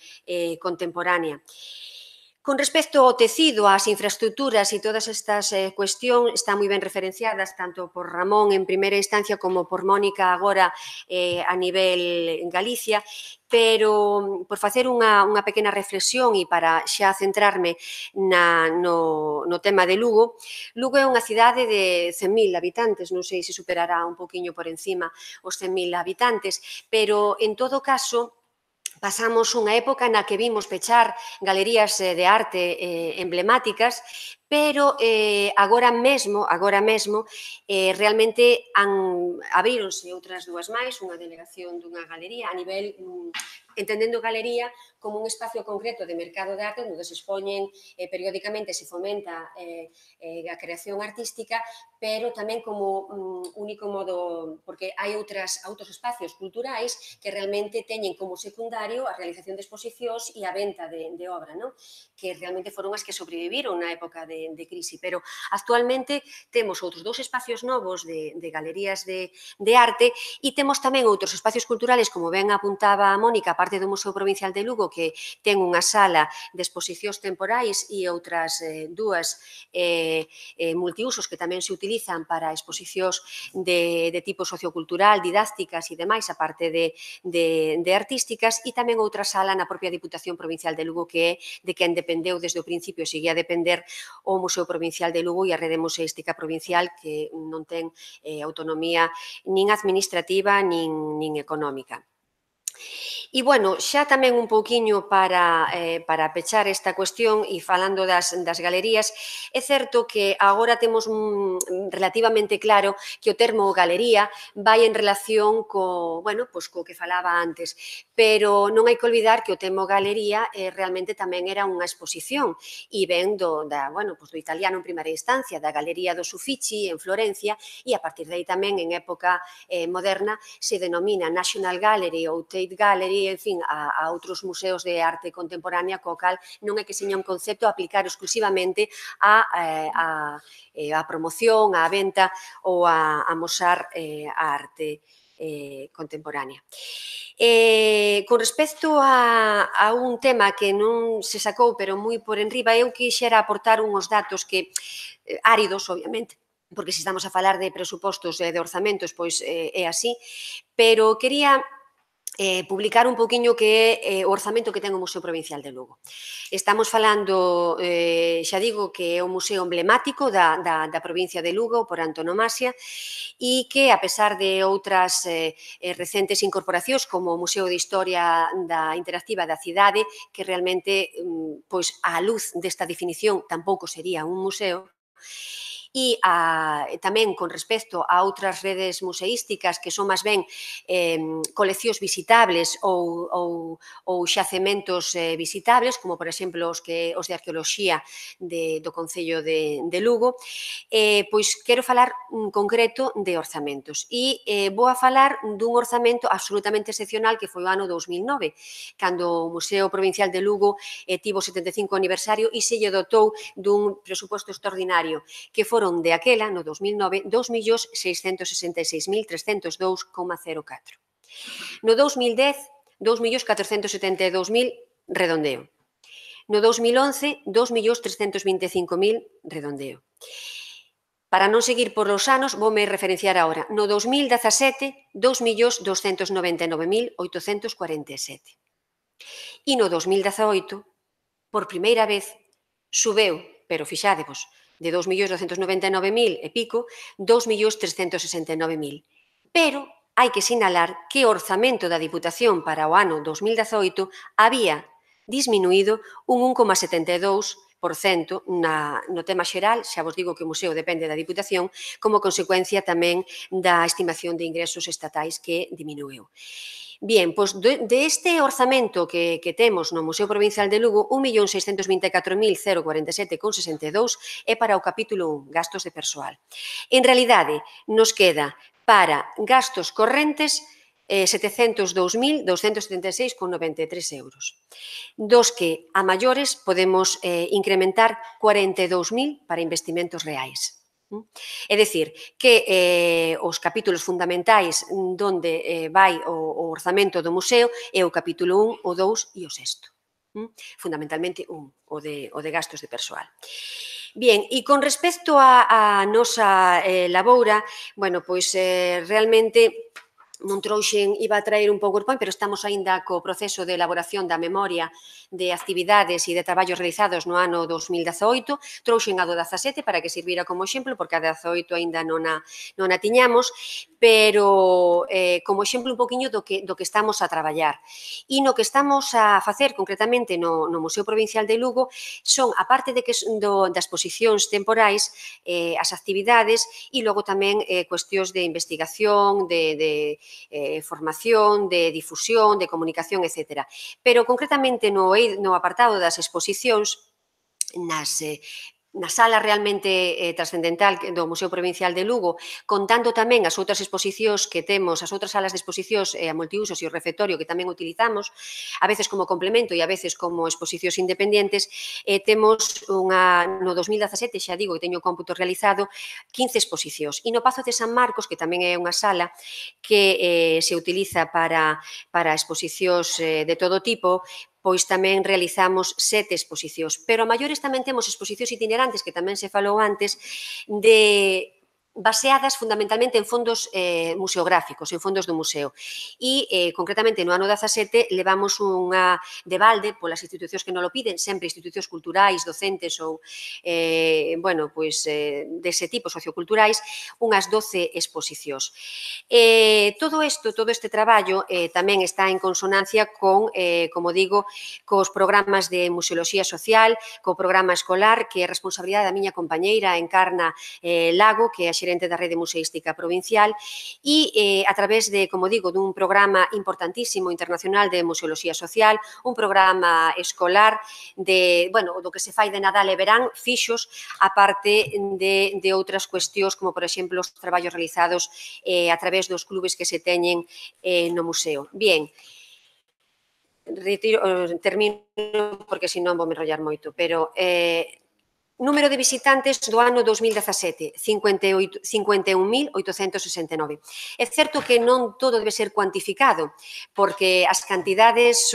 contemporánea. Con respecto ao tecido, ás infraestructuras e todas estas cuestións están moi ben referenciadas tanto por Ramón en primeira instancia como por Mónica agora a nivel en Galicia, pero por facer unha pequena reflexión e para xa centrarme no tema de Lugo, Lugo é unha cidade de 100.000 habitantes, non sei se superará un poquinho por encima os 100.000 habitantes, pero en todo caso pasamos unha época na que vimos pechar galerías de arte emblemáticas, pero agora mesmo realmente abríronse outras dúas máis, unha delegación dunha galería a nivel, entendendo galería como un espacio concreto de mercado de arte onde se expoñen periódicamente, se fomenta a creación artística, pero tamén como único modo, porque hai outros espacios culturais que realmente teñen como secundario a realización de exposicións e a venta de obra, que realmente foron as que sobreviviron na época de de crise, pero actualmente temos outros 2 espacios novos de galerías de arte e temos tamén outros espacios culturales, como ben apuntaba a Mónica, aparte do Museo Provincial de Lugo, que ten unha sala de exposicións temporais e outras 2 multiusos que tamén se utilizan para exposicións de tipo sociocultural, didácticas e demais, aparte de artísticas, e tamén outra sala na propia Diputación Provincial de Lugo, que é de quen dependeu desde o principio, seguía a depender o Museo Provincial de Lugo e a Rede Museística Provincial, que non ten autonomía nin administrativa nin económica. E, bueno, xa tamén un pouquiño para pechar esta cuestión e falando das galerías, é certo que agora temos relativamente claro que o termo galería vai en relación co que falaba antes, pero non hai que olvidar que o termo galería realmente tamén era unha exposición e ven do italiano en primeira instancia, da Galería dos Uffizi en Florencia, e a partir de aí tamén en época moderna se denomina National Gallery ou Tate Gallery, en fin, a outros museos de arte contemporánea, co cal non é que seña un concepto a aplicar exclusivamente a promoción, a venta ou a amosar a arte contemporánea. Con respecto a un tema que non se sacou, pero moi por enriba, eu quixera aportar unhos datos que, áridos, obviamente, porque se estamos a falar de presupostos e de orzamentos, pois é así, pero quería publicar un poquinho que é o orzamento que ten o Museo Provincial de Lugo. Estamos falando, xa digo, que é un museo emblemático da provincia de Lugo por antonomasia e que, a pesar de outras recentes incorporacións como o Museo de Historia Interactiva da Cidade, que realmente, pois, á luz desta definición, tampouco sería un museo, e tamén con respecto a outras redes museísticas que son máis ben coleccións visitables ou xacementos visitables, como por exemplo os de arqueoloxía do Concello de Lugo, pois quero falar en concreto de orzamentos e vou a falar dun orzamento absolutamente excepcional que foi o ano 2009, cando o Museo Provincial de Lugo tivo o 75 aniversario e se lle dotou dun presuposto extraordinario, que foron de aquela, no 2009, 2.666.302,04. No 2010, 2.472.000 redondeo. No 2011, 2.325.000 redondeo. Para non seguir por os anos, voume referenciar agora. No 2017, 2.299.847. E no 2018, por primeira vez, subeu, pero fixádevos, de 2.299.000 e pico, 2.369.000. Pero hai que sinalar que o orzamento da Diputación para o ano 2018 había disminuído un 1,72% no tema xeral, xa vos digo que o museo depende da Diputación, como consecuencia tamén da estimación de ingresos estatais que diminuiu. Bien, pois deste orzamento que temos no Museo Provincial de Lugo, 1.624.047,62 é para o capítulo 1, gastos de persoal. En realidade, nos queda para gastos correntes 702.276,93 euros, dos que a maiores podemos incrementar 42.000 para investimentos reais. É dicir, que os capítulos fundamentais donde vai o orzamento do museo é o capítulo 1, o 2 e o 6. Fundamentalmente o de gastos de persoal. Bien, e con respecto a nosa laboura, bueno, pois realmente non trouxen, iba a traer un PowerPoint, pero estamos aínda co proceso de elaboración da memoria de actividades e de traballos realizados no ano 2018, trouxen a do 17 para que servira como exemplo, porque a 18 aínda non a tiñamos, pero como exemplo un poquinho do que estamos a traballar. E no que estamos a facer concretamente no Museo Provincial de Lugo son, a parte das exposicións temporais, as actividades e logo tamén cuestións de investigación, de formación, de difusión, de comunicación, etc. Pero concretamente no apartado das exposicións, nas na sala realmente trascendental do Museo Provincial de Lugo, contando tamén as outras exposicións que temos, as outras salas de exposicións a multiusos e o refectorio que tamén utilizamos, a veces como complemento e a veces como exposicións independentes, temos no 2017, xa digo que teño o cómputo realizado, 15 exposicións. E no Pazo de San Marcos, que tamén é unha sala que se utiliza para exposicións de todo tipo, pois tamén realizamos 7 exposicións. Pero a maiores tamén temos exposicións itinerantes, que tamén se falou antes, baseadas fundamentalmente en fondos museográficos, en fondos do museo. E, concretamente, no ano 17, levamos unha de balde polas institucións que non lo piden, sempre institucións culturais, docentes ou, bueno, pois, dese tipo, socioculturais, unhas 12 exposicións. Todo este traballo tamén está en consonancia con, como digo, cos programas de museoloxía social, co programa escolar, que é responsabilidade da miña compañeira Encarna Lago, que é a xerente da Rede Museística Provincial, e a través de, como digo, dun programa importantísimo internacional de museoloxía social, un programa escolar do que se fai de Nadal e verán, fixos, aparte de outras cuestións, como, por exemplo, os traballos realizados a través dos clubes que se teñen no museo. Bien, termino porque senón vou me enrollar moito, pero número de visitantes do ano 2017, 51.869. É certo que non todo debe ser cuantificado, porque as cantidades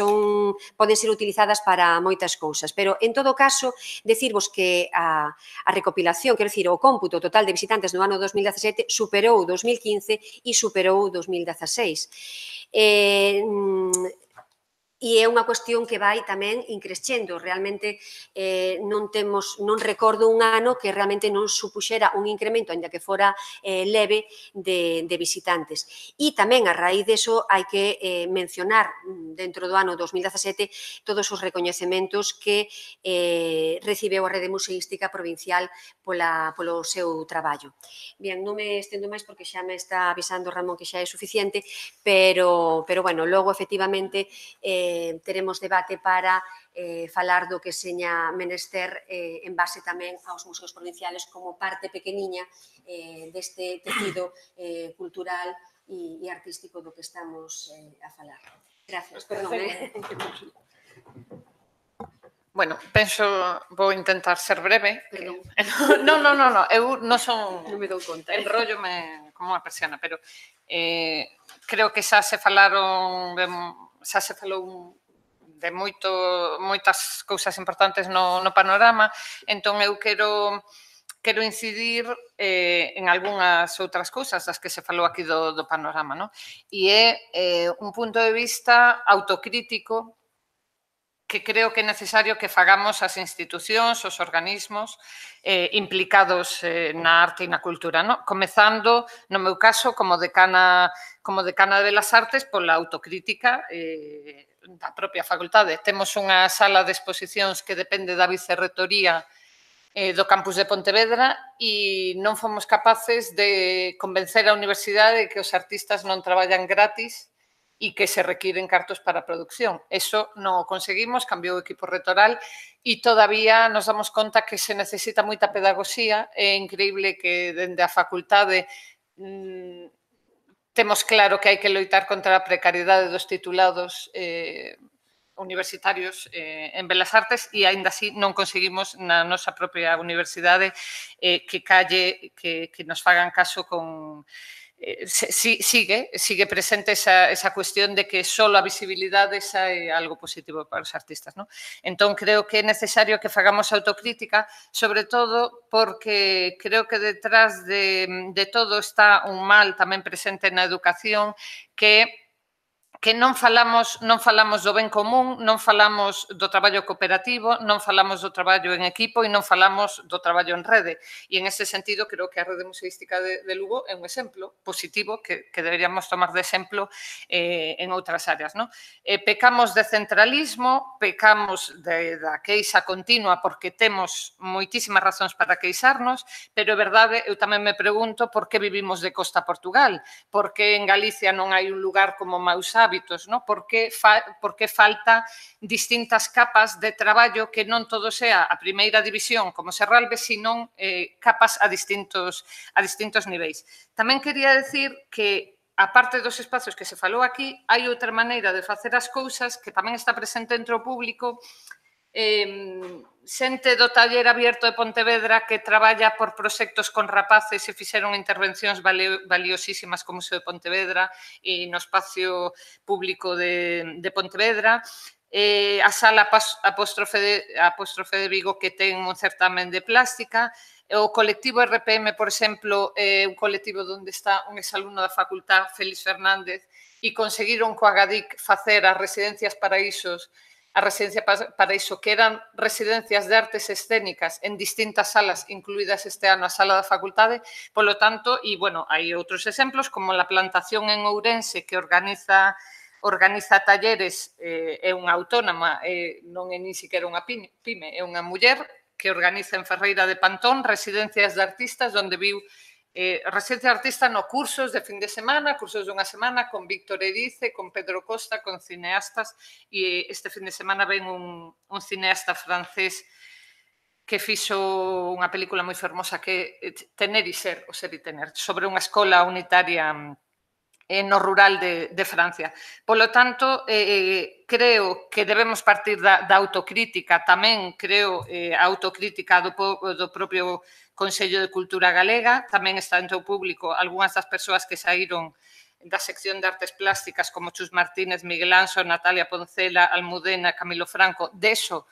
poden ser utilizadas para moitas cousas, pero, en todo caso, decirvos que a recopilación, quero dicir, o cómputo total de visitantes no ano 2017 superou 2015 e superou 2016. E é unha cuestión que vai tamén increscendo. Realmente non recordo un ano que realmente non supuxera un incremento, ainda que fora leve, de visitantes. E tamén, a raíz deso, hai que mencionar dentro do ano 2017 todos os recoñecementos que recibeu a Rede Museística Provincial polo seu traballo. Bien, non me estendo máis porque xa me está avisando Ramón que xa é suficiente, pero bueno, logo, efectivamente, teremos debate para falar do que seña menester en base tamén aos museos provinciales como parte pequeniña deste tecido cultural e artístico do que estamos a falar. Gracias, perdón. Bueno, penso, vou intentar ser breve. Non, eu non son... Non me dou conta. Enróllome como unha persiana, pero creo que xa se falou de moitas cousas importantes no panorama, entón eu quero incidir en algunhas outras cousas das que se falou aquí do panorama, non? E é un punto de vista autocrítico que creo que é necesario que fagamos as institucións, os organismos implicados na arte e na cultura, non? Comezando, no meu caso, como decana de Belas Artes, pola autocrítica da propia facultade. Temos unha sala de exposicións que depende da vicerrectoría do campus de Pontevedra e non fomos capaces de convencer a universidade de que os artistas non traballan gratis e que se requiren cartos para a produción. Eso non o conseguimos, cambiou o equipo rectoral e todavía nos damos conta que se necesita moita pedagogía. É increíble que dende a facultade temos claro que hai que loitar contra a precariedade dos titulados universitarios en Belas Artes e, aínda así, non conseguimos na nosa propia universidade que nos fagan caso con... Sigue presente esa cuestión de que só a visibilidade xa é algo positivo para os artistas, non? Entón, creo que é necesario que fagamos autocrítica, sobre todo porque creo que detrás de todo está un mal tamén presente na educación que non falamos do ben común, non falamos do traballo cooperativo, non falamos do traballo en equipo e non falamos do traballo en rede. E, en ese sentido, creo que a Rede Museística de Lugo é un exemplo positivo que deberíamos tomar de exemplo en outras áreas. Pecamos de centralismo, pecamos da queixa continua porque temos moitísimas razóns para queixarnos, pero é verdade, eu tamén me pregunto por que vivimos de costa a Portugal, por que en Galicia non hai un lugar como Mausá hábitos, ¿no? Por que falta distintas capas de traballo que non todo sea a primeira división como Serralves, sino capas a distintos niveis. Tamén quería decir que a parte dos espazos que se falou aquí, hai outra maneira de facer as cousas que tamén está presente entre o público, xente do taller abierto de Pontevedra que traballa por proxectos con rapaces e fixeron intervencións valiosísimas como Museo de Pontevedra e no espacio público de Pontevedra, a sala Apóstrofe de Vigo que ten un certamen de plástica, o colectivo RPM, por exemplo, é un colectivo onde está un exalumno da facultad, Félix Fernández, e conseguiron coa GADIC facer as residencias Paraísos, a residencia Paraíso, que eran residencias de artes escénicas en distintas salas, incluídas este ano a sala da facultade. Polo tanto, e, bueno, hai outros exemplos, como a plantación en Ourense, que organiza talleres, é unha autónoma, non é nin siquiera unha pyme, é unha muller que organiza en Ferreira de Pantón residencias de artistas, onde viu residencia de artista no cursos de fin de semana, cursos dunha semana, con Víctor Erice, con Pedro Costa, con cineastas, e este fin de semana ven un cineasta francés que fixo unha película moi fermosa que é Tener e Ser, o Ser e Tener, sobre unha escola unitaria no rural de Francia. Polo tanto, creo que debemos partir da autocrítica, tamén creo a autocrítica do propio Consello de Cultura Galega, tamén está entre o público algunhas das persoas que saíron da sección de artes plásticas como Chus Martínez, Miguel Anso, Natalia Poncela, Almudena, Camilo Franco. Deso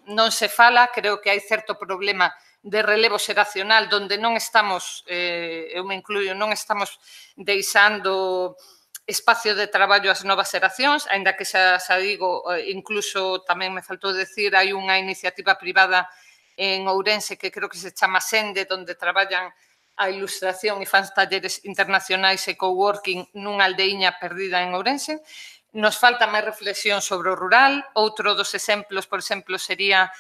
non se fala, creo que hai certo problema de relevo xeracional onde non estamos, eu me incluyo, non estamos deixando espacio de traballo ás novas xeracións, aínda que xa digo, incluso tamén me faltou decir, hai unha iniciativa privada en Ourense que creo que se chama Sende, onde traballan a ilustración e fan talleres internacionais e coworking nunha aldeiña perdida en Ourense. Nos falta máis reflexión sobre o rural. Outro dos exemplos, por exemplo, sería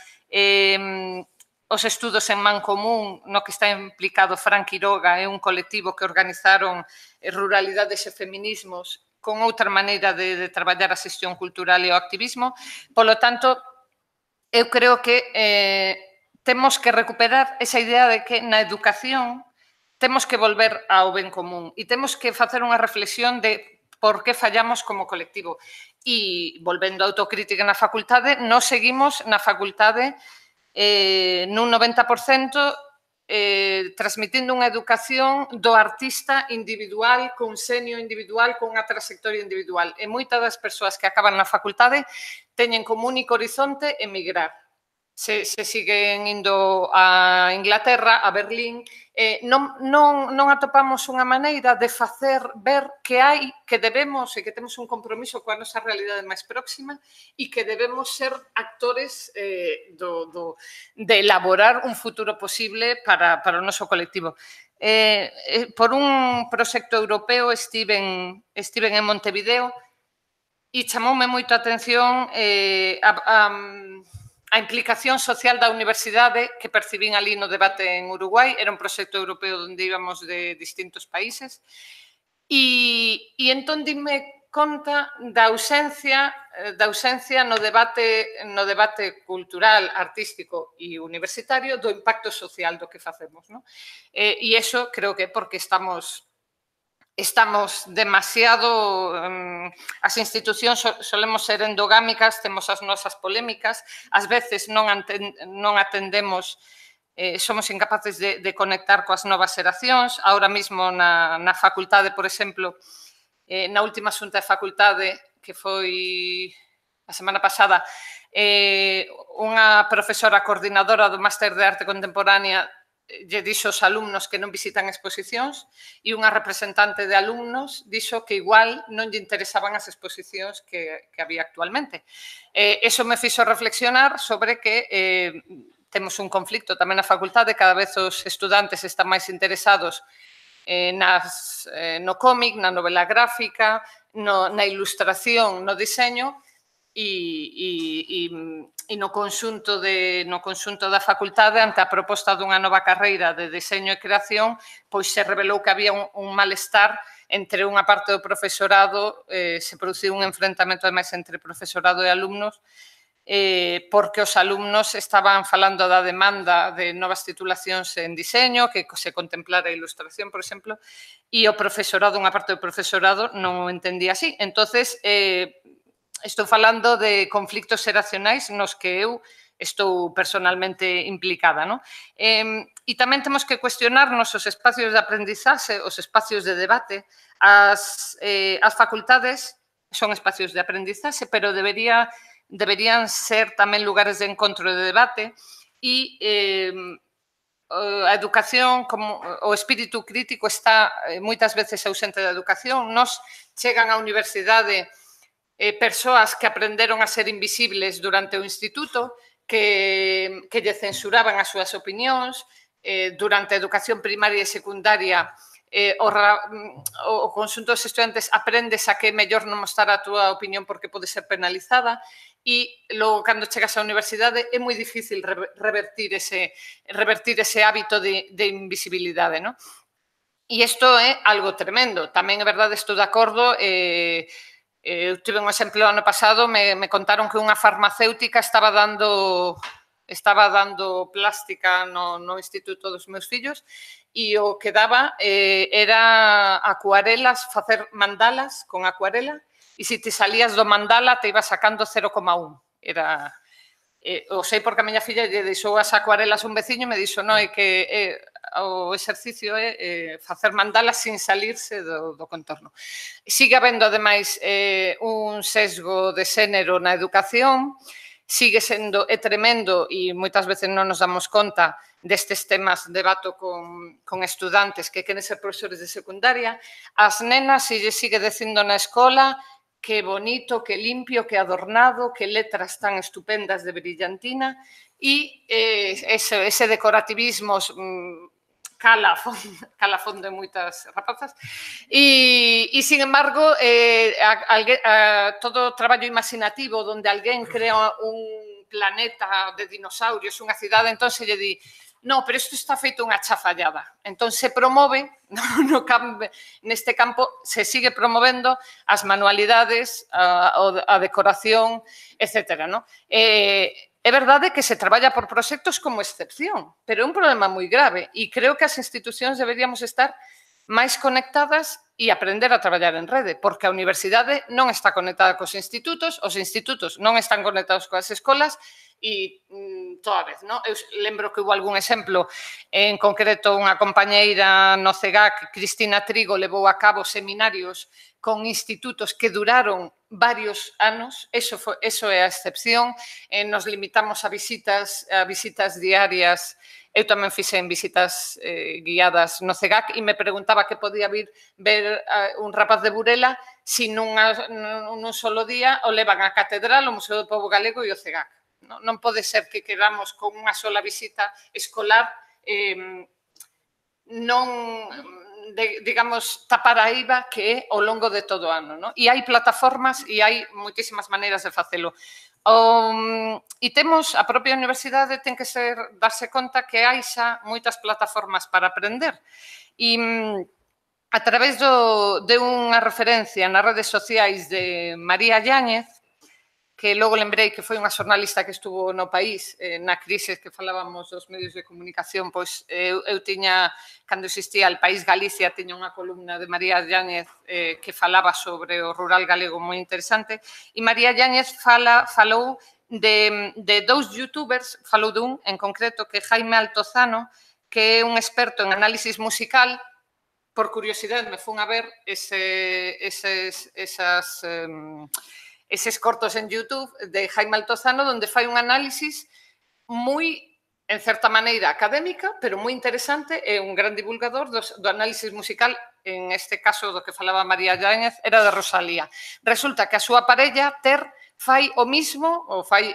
os estudos en Mancomún, no que está implicado Fran Quiroga, é un colectivo que organizaron ruralidades e feminismos con outra maneira de traballar a xestión cultural e o activismo. Polo tanto, eu creo que temos que recuperar esa idea de que na educación temos que volver ao ben común e temos que facer unha reflexión de por que fallamos como colectivo. E, volvendo á autocrítica na facultade, nós seguimos na facultade nun 90% transmitindo unha educación do artista individual, con senio individual, con unha trayectoria individual. E moitas das persoas que acaban na facultade teñen como único horizonte emigrar. Se siguen indo a Inglaterra, a Berlín, non atopamos unha maneira de facer ver que hai, que debemos e que temos un compromiso coa nosa realidade máis próxima e que debemos ser actores de elaborar un futuro posible para o noso colectivo. Por un proxecto europeo estiven en Montevideo e chamoume moito a atención a implicación social da universidade que percibín ali no debate en Uruguai. Era un proxecto europeo onde íbamos de distintos países e entón dime conta da ausencia no debate cultural, artístico e universitario do impacto social do que facemos. E iso creo que é porque estamos demasiado, as institucións solemos ser endogámicas, temos as nosas polémicas, ás veces non atendemos, somos incapaces de conectar coas novas xeracións. Ahora mesmo na facultade, por exemplo, na última xunta de facultade, que foi a semana pasada, unha profesora coordinadora do Máster de Arte Contemporánea lle dixo aos alumnos que non visitan exposicións e unha representante de alumnos dixo que igual non lle interesaban as exposicións que había actualmente. Eso me fixo reflexionar sobre que temos un conflicto tamén na facultade, cada vez os estudantes están máis interesados no cómic, na novela gráfica, na ilustración, no diseño, e no conxunto da facultade, ante a proposta dunha nova carreira de deseño e creación, pois se revelou que había un malestar entre unha parte do profesorado, se produciu un enfrentamento ademais entre profesorado e alumnos, porque os alumnos estaban falando da demanda de novas titulacións en diseño, que se contemplara a ilustración, por exemplo, e o profesorado, unha parte do profesorado, non o entendía así. Entonces, estou falando de conflictos xeracionais nos que eu estou personalmente implicada, non? E tamén temos que cuestionarnos os espacios de aprendizaxe, os espacios de debate. As facultades son espacios de aprendizaxe, pero deberían ser tamén lugares de encontro e de debate, e a educación, como o espírito crítico está moitas veces ausente da educación. Nos chegan á universidade persoas que aprenderon a ser invisibles durante o instituto, que lle censuraban as súas opinións. Durante a educación primaria e secundaria, o conxunto dos estudantes aprendes a que é mellor non mostrar a túa opinión porque pode ser penalizada, e logo, cando chegas á universidade, é moi difícil revertir ese hábito de invisibilidade, non? E isto é algo tremendo. Tamén é verdade, estou de acordo. Eu tive un exemplo ano pasado, me contaron que unha farmacéutica estaba dando plástica no instituto dos meus fillos, e o que daba era acuarelas, facer mandalas con acuarela, e se te salías do mandala te ibas sacando 0,1. O sei porque a miña filla lle deixou as acuarelas un veciño e me dixo, non, é que o exercicio é facer mandalas sin salirse do contorno. Sigue habendo, ademais, un sesgo de xénero na educación, sigue sendo tremendo, e moitas veces non nos damos conta destes temas. Debato con estudantes que queren ser profesores de secundaria. As nenas se lle sigue dicindo na escola que bonito, que limpio, que adornado, que letras tan estupendas de brillantina, e ese decorativismo cala a fondo de moitas rapazas, e sin embargo, todo o traballo imaginativo onde alguén crea un planeta de dinosaurios, unha cidade, entón se lle di, no, pero isto está feito unha chafallada. Entón se promove, neste campo se sigue promovendo as manualidades, a decoración, etc. É verdade que se traballa por proxectos como excepción, pero é un problema moi grave, e creo que as institucións deberíamos estar máis conectadas e aprender a traballar en rede, porque a universidade non está conectada cos institutos, os institutos non están conectados coas escolas, e toda vez, non? Eu lembro que hubo algún exemplo, en concreto unha compañeira no CEGAC, Cristina Trigo, levou a cabo seminarios con institutos que duraron varios anos. Eso é a excepción. Nos limitamos a visitas diarias. Eu tamén fixen visitas guiadas no CEGAC e me preguntaba que podía ver un rapaz de Burela se nun solo día o levan á Catedral, o Museo do Pobo Galego e o CEGAC. Non pode ser que queramos con unha sola visita escolar non, digamos, tapar a IVA que é ao longo de todo o ano. E hai plataformas e hai moitísimas maneiras de facelo. E temos, a propia universidade ten que darse conta que hai xa moitas plataformas para aprender. E a través de unha referencia nas redes sociais de María Yáñez, que logo lembrei que foi unha xornalista que estuvo no País na crise que falábamos dos medios de comunicación, pois eu tiña, cando existía El País Galicia, tiña unha columna de María Yáñez que falaba sobre o rural galego moi interesante, e María Yáñez falou de dous youtubers, falou dun en concreto que é Jaime Altozano, que é un experto en análisis musical. Por curiosidade me fun a ver eses cortos en YouTube de Jaime Altozano, onde fai un análisis moi, en certa maneira, académica, pero moi interesante, é un gran divulgador do análisis musical, en este caso do que falaba María Yáñez, era de Rosalía. Resulta que a súa parella, Ter, fai o mismo, ou fai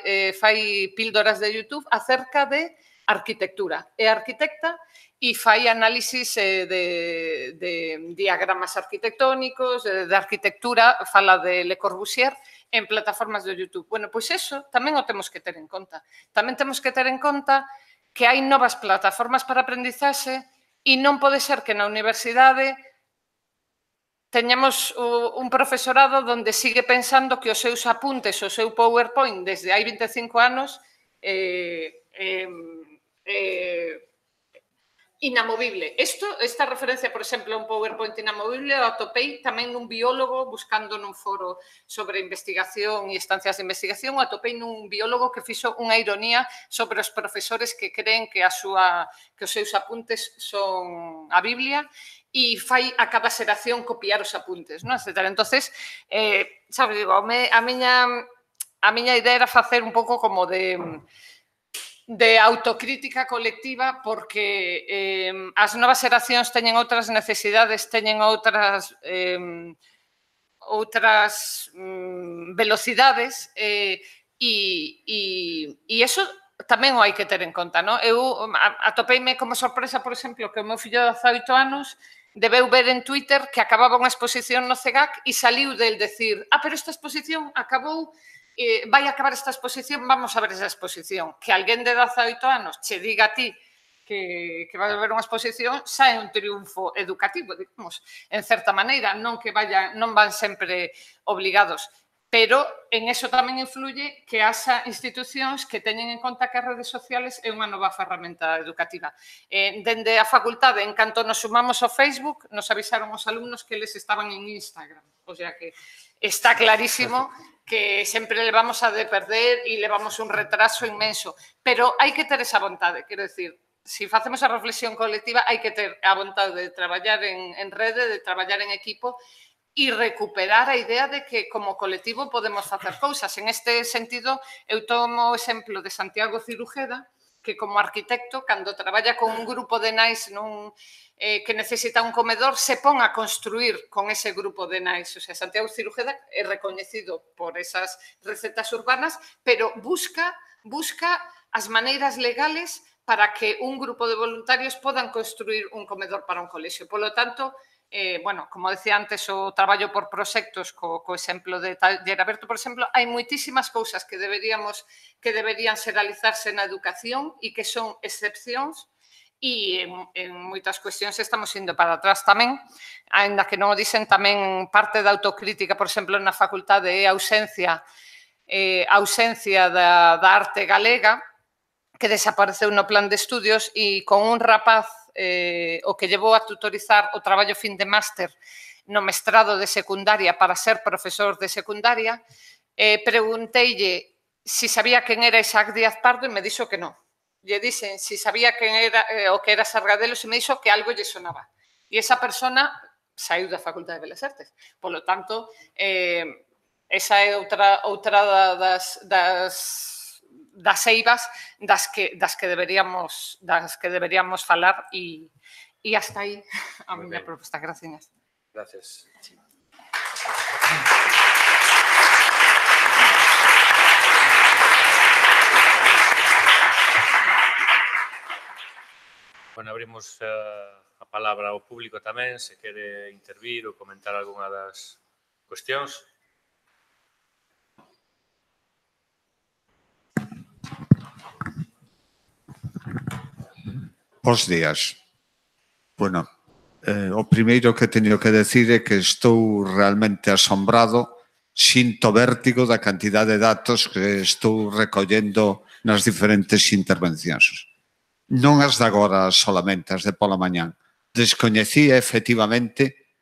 píldoras de YouTube acerca de arquitectura. É arquitecta e fai análisis de diagramas arquitectónicos, de arquitectura, fala de Le Corbusier en plataformas de YouTube. Bueno, pois eso tamén o temos que ter en conta. Tamén temos que ter en conta que hai novas plataformas para aprendizaxe e non pode ser que na universidade teñamos un profesorado onde sigue pensando que os seus apuntes, o seu PowerPoint desde hai 25 anos inamovible. Esta referencia, por exemplo, a un PowerPoint inamovible, o atopei tamén nun biólogo buscando nun foro sobre investigación e estancias de investigación, o atopei nun biólogo que fixo unha ironía sobre os profesores que creen que os seus apuntes son a Biblia e fai a cada xeración copiar os apuntes, non? Etcétera. Entonces, sabes, digo, a miña idea era facer un pouco como de autocrítica colectiva porque as novas xeracións teñen outras necesidades, teñen outras velocidades e iso tamén o hai que ter en conta, non? Eu atopeime como sorpresa, por exemplo, que o meu fillo de 18 anos debeu ver en Twitter que acababa unha exposición no CEGAC e saliu del decir, pero esta exposición acabou, vai acabar esta exposición, vamos a ver esa exposición. Que alguén de 18 anos che diga a ti que vai a ver unha exposición xa é un triunfo educativo, digamos, en certa maneira, non van sempre obligados. Pero en eso tamén influye que haxa institucións que teñen en conta que as redes sociales é unha nova ferramenta educativa. Dende a facultade, en canto nos sumamos ao Facebook, nos avisaron os alumnos que eles estaban en Instagram. O sea que está clarísimo que sempre levamos a de perder e levamos un retraso inmenso. Pero hai que ter esa vontade, quero dicir, se facemos a reflexión colectiva, hai que ter a vontade de traballar en rede, de traballar en equipo e recuperar a idea de que como colectivo podemos facer cousas. En este sentido, eu tomo o exemplo de Santiago Cirujeda, que como arquitecto, cando traballa con un grupo de nais que necesita un comedor, se pon a construir con ese grupo de nais. O sea, Santiago Cirujeda é recoñecido por esas recetas urbanas, pero busca as maneiras legales para que un grupo de voluntarios podan construir un comedor para un colexio. Por lo tanto, como decía antes, o traballo por proxectos co exemplo de Taller Aberto, por exemplo, hai moitísimas cousas que deberían realizarse na educación e que son excepcións e en moitas cuestións estamos indo para atrás tamén, aínda que non o dicen, tamén parte da autocrítica, por exemplo, na facultade é a ausencia da arte galega, que desapareceu no plan de estudios e con un rapaz o que llevou a tutorizar o traballo fin de máster no mestrado de secundaria para ser profesor de secundaria, pregunteille se sabía quen era Isaac Díaz Pardo e me dixo que non. Lle dixen se sabía quen era o que era Sargadelos e me dixo que algo lle sonaba. E esa persona saiu da Facultade de Belas Artes. Por lo tanto, esa é outra das eivas das que deberíamos falar e hasta aí a miña proposta. Gracias. Gracias. Bueno, abrimos a palabra ao público tamén, se quere intervir ou comentar algunha das cuestións. Bos días. Bueno, o primeiro que teño que decir é que estou realmente asombrado, sinto vértigo da cantidade de datos que estou recollendo nas diferentes intervencións. Non as de agora solamente, as de pola mañán. Descoñecía efectivamente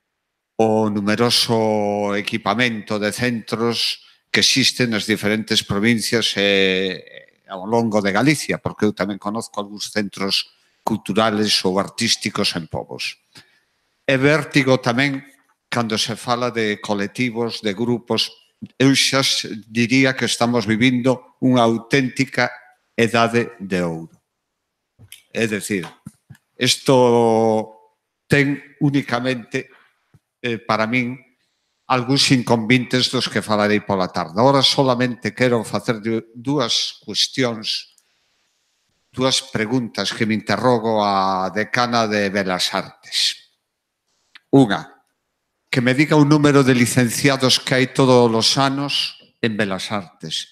o numeroso equipamento de centros que existen nas diferentes provincias e ao longo de Galicia, porque eu tamén conozco algúns centros culturales ou artísticos en povos. É vértigo tamén cando se fala de colectivos, de grupos. Eu xa diría que estamos vivindo unha auténtica edade de ouro. É dicir, isto ten únicamente, para min, algúns inconvenientes dos que falarei pola tarde. Ahora solamente quero facer dúas cuestións dúas preguntas que me interrogo a decana de Belas Artes. Unha, que me diga o número de licenciados que hai todos os anos en Belas Artes.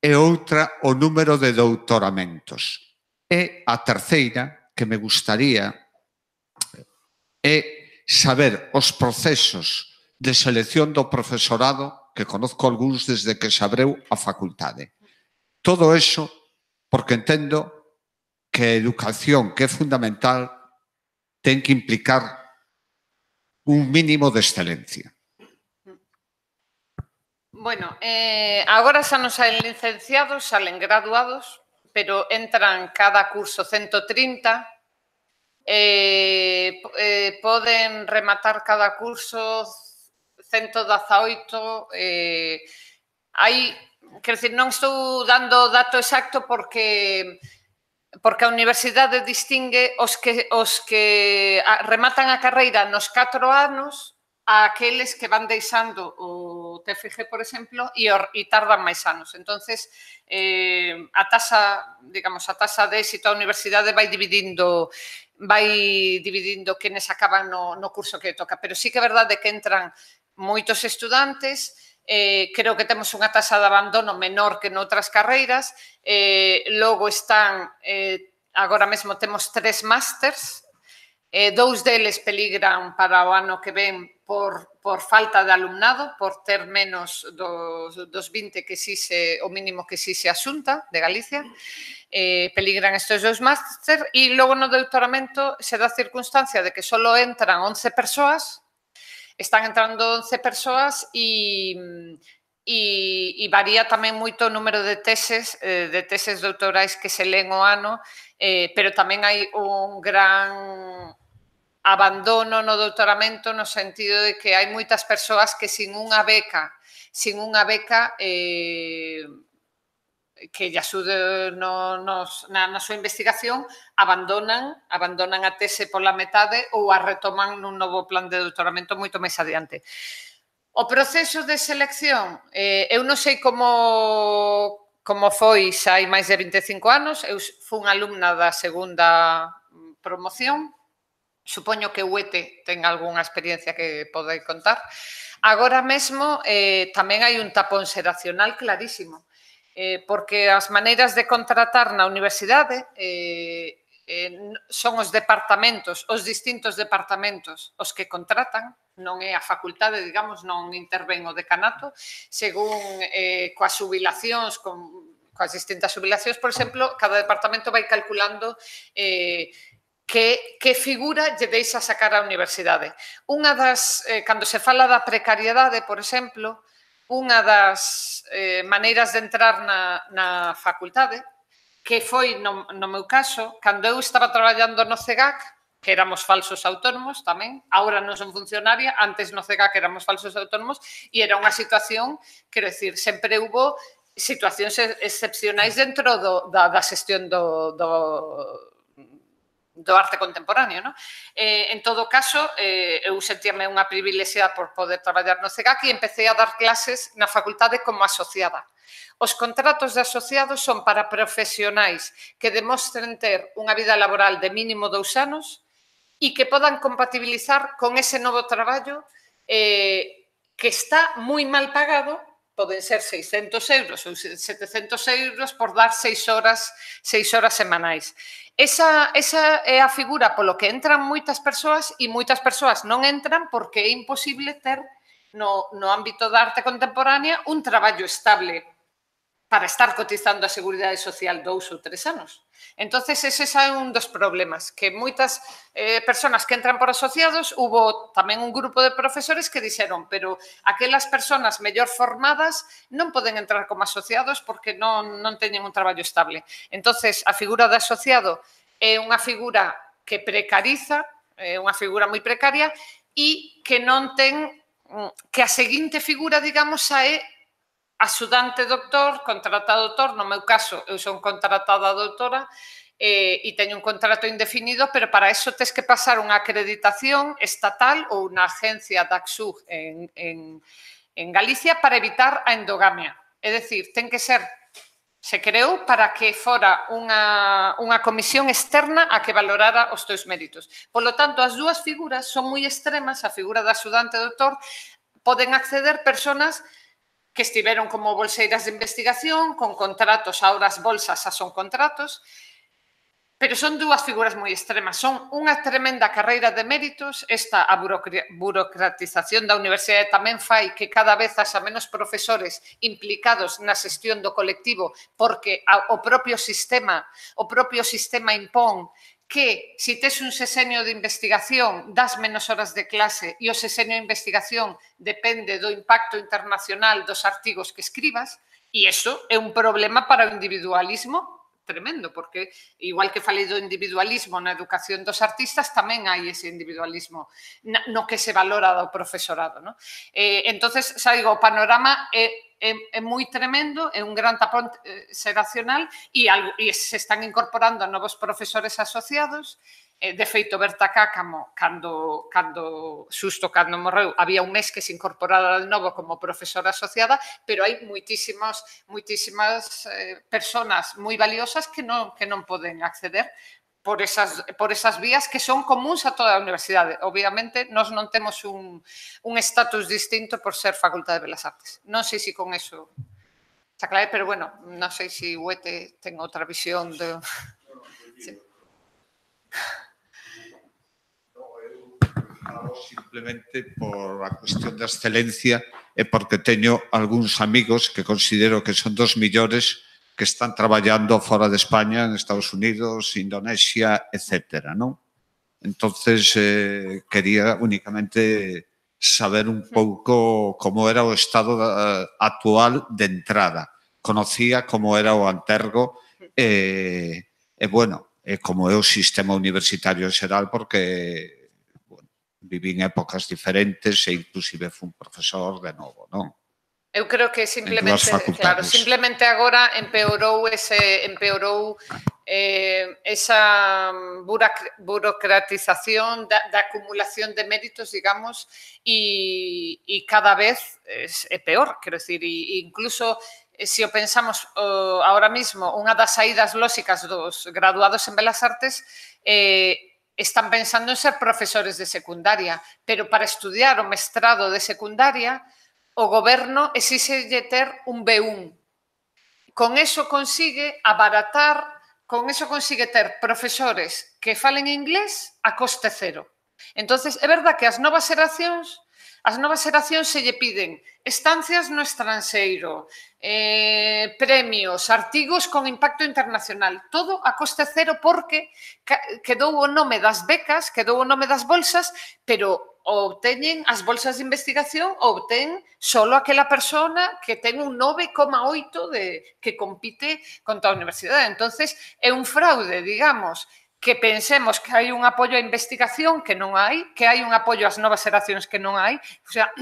E outra, o número de doutoramentos. E a terceira, que me gustaría, é saber os procesos de selección do profesorado, que conozco algúns desde que se abreu a facultade. Todo eso porque entendo que a educación, que é fundamental, ten que implicar un mínimo de excelencia. Bueno, agora xa non salen licenciados, salen graduados, pero entran cada curso 130, poden rematar cada curso 118, quero dicir, non estou dando o dato exacto porque a universidade distingue os que rematan a carreira nos 4 anos a aqueles que van deixando o TFG, por exemplo, e tardan máis anos. Entonces, a taxa de éxito da universidade vai dividindo quenes acaban no curso que toca. Pero sí que é verdade que entran moitos estudantes, creo que temos unha taxa de abandono menor que noutras carreiras, logo están, agora mesmo temos 3 másters, 2 deles peligran para o ano que ven por falta de alumnado, por ter menos dos 20 que exixe, o mínimo que exixe a Xunta de Galicia, peligran estes 2 máster, e logo no doutoramento se dá a circunstancia de que só entran 11 persoas, están entrando 11 persoas e varía tamén moito o número de teses doutorais que se leen o ano, pero tamén hai un gran abandono no doutoramento no sentido de que hai moitas persoas que sin unha beca que lle axude na súa investigación, abandonan a tese pola metade ou a retoman nun novo plan de doutoramento moito máis adiante. O proceso de selección, eu non sei como foi xa hai máis de 25 anos, eu fui alumna da segunda promoción, supoño que o ETE ten algunha experiencia que podei contar. Agora mesmo tamén hai un tapón xeracional clarísimo, porque as maneiras de contratar na universidade son os distintos departamentos os que contratan, non é a facultade, digamos, non intervén o decanato, según coas xubilacións, coas distintas xubilacións, por exemplo, cada departamento vai calculando que figura lle deixa sacar a universidade. Cando se fala da precariedade, por exemplo, unha das maneiras de entrar na facultade, que foi, no meu caso, cando eu estaba traballando no CEGAC, que éramos falsos autónomos tamén, agora non son funcionaria, antes no CEGAC éramos falsos autónomos, e era unha situación, quero dicir, sempre hubo situacións excepcionais dentro da xestión do arte contemporáneo, non? En todo caso, eu sentíame unha privilexiada por poder traballar no CEGAC e empecé a dar clases na facultade como asociada. Os contratos de asociados son para profesionais que demostren ter unha vida laboral de mínimo 2 anos e que podan compatibilizar con ese novo traballo que está moi mal pagado, poden ser 600 euros ou 700 euros por dar 6 horas semanais. Esa é a figura polo que entran moitas persoas e moitas persoas non entran porque é imposible ter no ámbito da arte contemporánea un traballo estable para estar cotizando a Seguridade Social 2 ou 3 anos. Entonces, ese é un dos problemas, que moitas persoas que entran por asociados, hubo tamén un grupo de profesores que dixeron, pero aquelas persoas mellor formadas non poden entrar como asociados porque non teñen un traballo estable. Entonces, a figura de asociado é unha figura que precariza, é unha figura moi precaria e que non ten, que a seguinte figura, digamos, é axudante doutor, contratado doutor, no meu caso, eu son contratada doutora e teño un contrato indefinido, pero para eso tes que pasar unha acreditación estatal ou unha agencia da ACSUG en Galicia para evitar a endogamia. É dicir, ten que ser Se creou para que fora unha comisión externa a que valorara os teus méritos. Polo tanto, as dúas figuras son moi extremas. A figura da axudante doutor poden acceder persoas que estiveron como bolseiras de investigación, con contratos, ahora as bolsas xa son contratos, pero son dúas figuras moi extremas. Son unha tremenda carreira de méritos. Esta, a burocratización da universidade tamén fai que cada vez haxa menos profesores implicados na xestión do colectivo, porque o propio sistema impón que se tes un sexenio de investigación das menos horas de clase e o sexenio de investigación depende do impacto internacional dos artigos que escribas, e iso é un problema para o individualismo tremendo, porque igual que falei do individualismo na educación dos artistas, tamén hai ese individualismo no que se valora do profesorado. Entonces, xa digo, o panorama é moi tremendo, é un gran tapón xeracional e se están incorporando novos profesores asociados. De feito, Berta Cáccamo, cando morreu, había un mes que se incorporara de novo como profesora asociada, pero hai moitísimas persoas moi valiosas que non poden acceder por esas vías que son comuns a toda a universidade. Obviamente, nós non temos un estatus distinto por ser Facultade de Belas Artes. Non sei se con eso se aclaré, pero bueno, non sei se Huete ten outra visión de... Sí. Simplemente por a cuestión da excelencia e porque teño algúns amigos que considero que son dos millores que están traballando fora de España, en Estados Unidos, Indonesia, etcétera, non? Entonces, quería únicamente saber un pouco como era o estado actual de entrada. Conocía como era o Antergo e bueno, como é o sistema universitario en xeral, porque viví en épocas diferentes e inclusive fui un profesor de novo, non? Eu creo que simplemente agora empeorou esa burocratización da acumulación de méritos, digamos, e cada vez é peor, quero dicir, incluso se o pensamos ahora mismo, unha das saídas lóxicas dos graduados en Belas Artes están pensando en ser profesores de secundaria, pero para estudiar o mestrado de secundaria o goberno exíxelle ter un B1. Con eso consigue abaratar, con eso consigue ter profesores que falen inglés a coste cero. Entonces, é verdad que as novas xeracións se lle piden estancias no estranxeiro, premios, artigos con impacto internacional, todo a coste cero porque quedou o nome das becas, quedou o nome das bolsas, pero obteñen as bolsas de investigación, obtén solo aquela persona que ten un 9,8 que compite contra a universidade. Entonces, é un fraude, digamos, que pensemos que hai un apoio á investigación que non hai, que hai un apoio ás novas xeracións que non hai. O sea,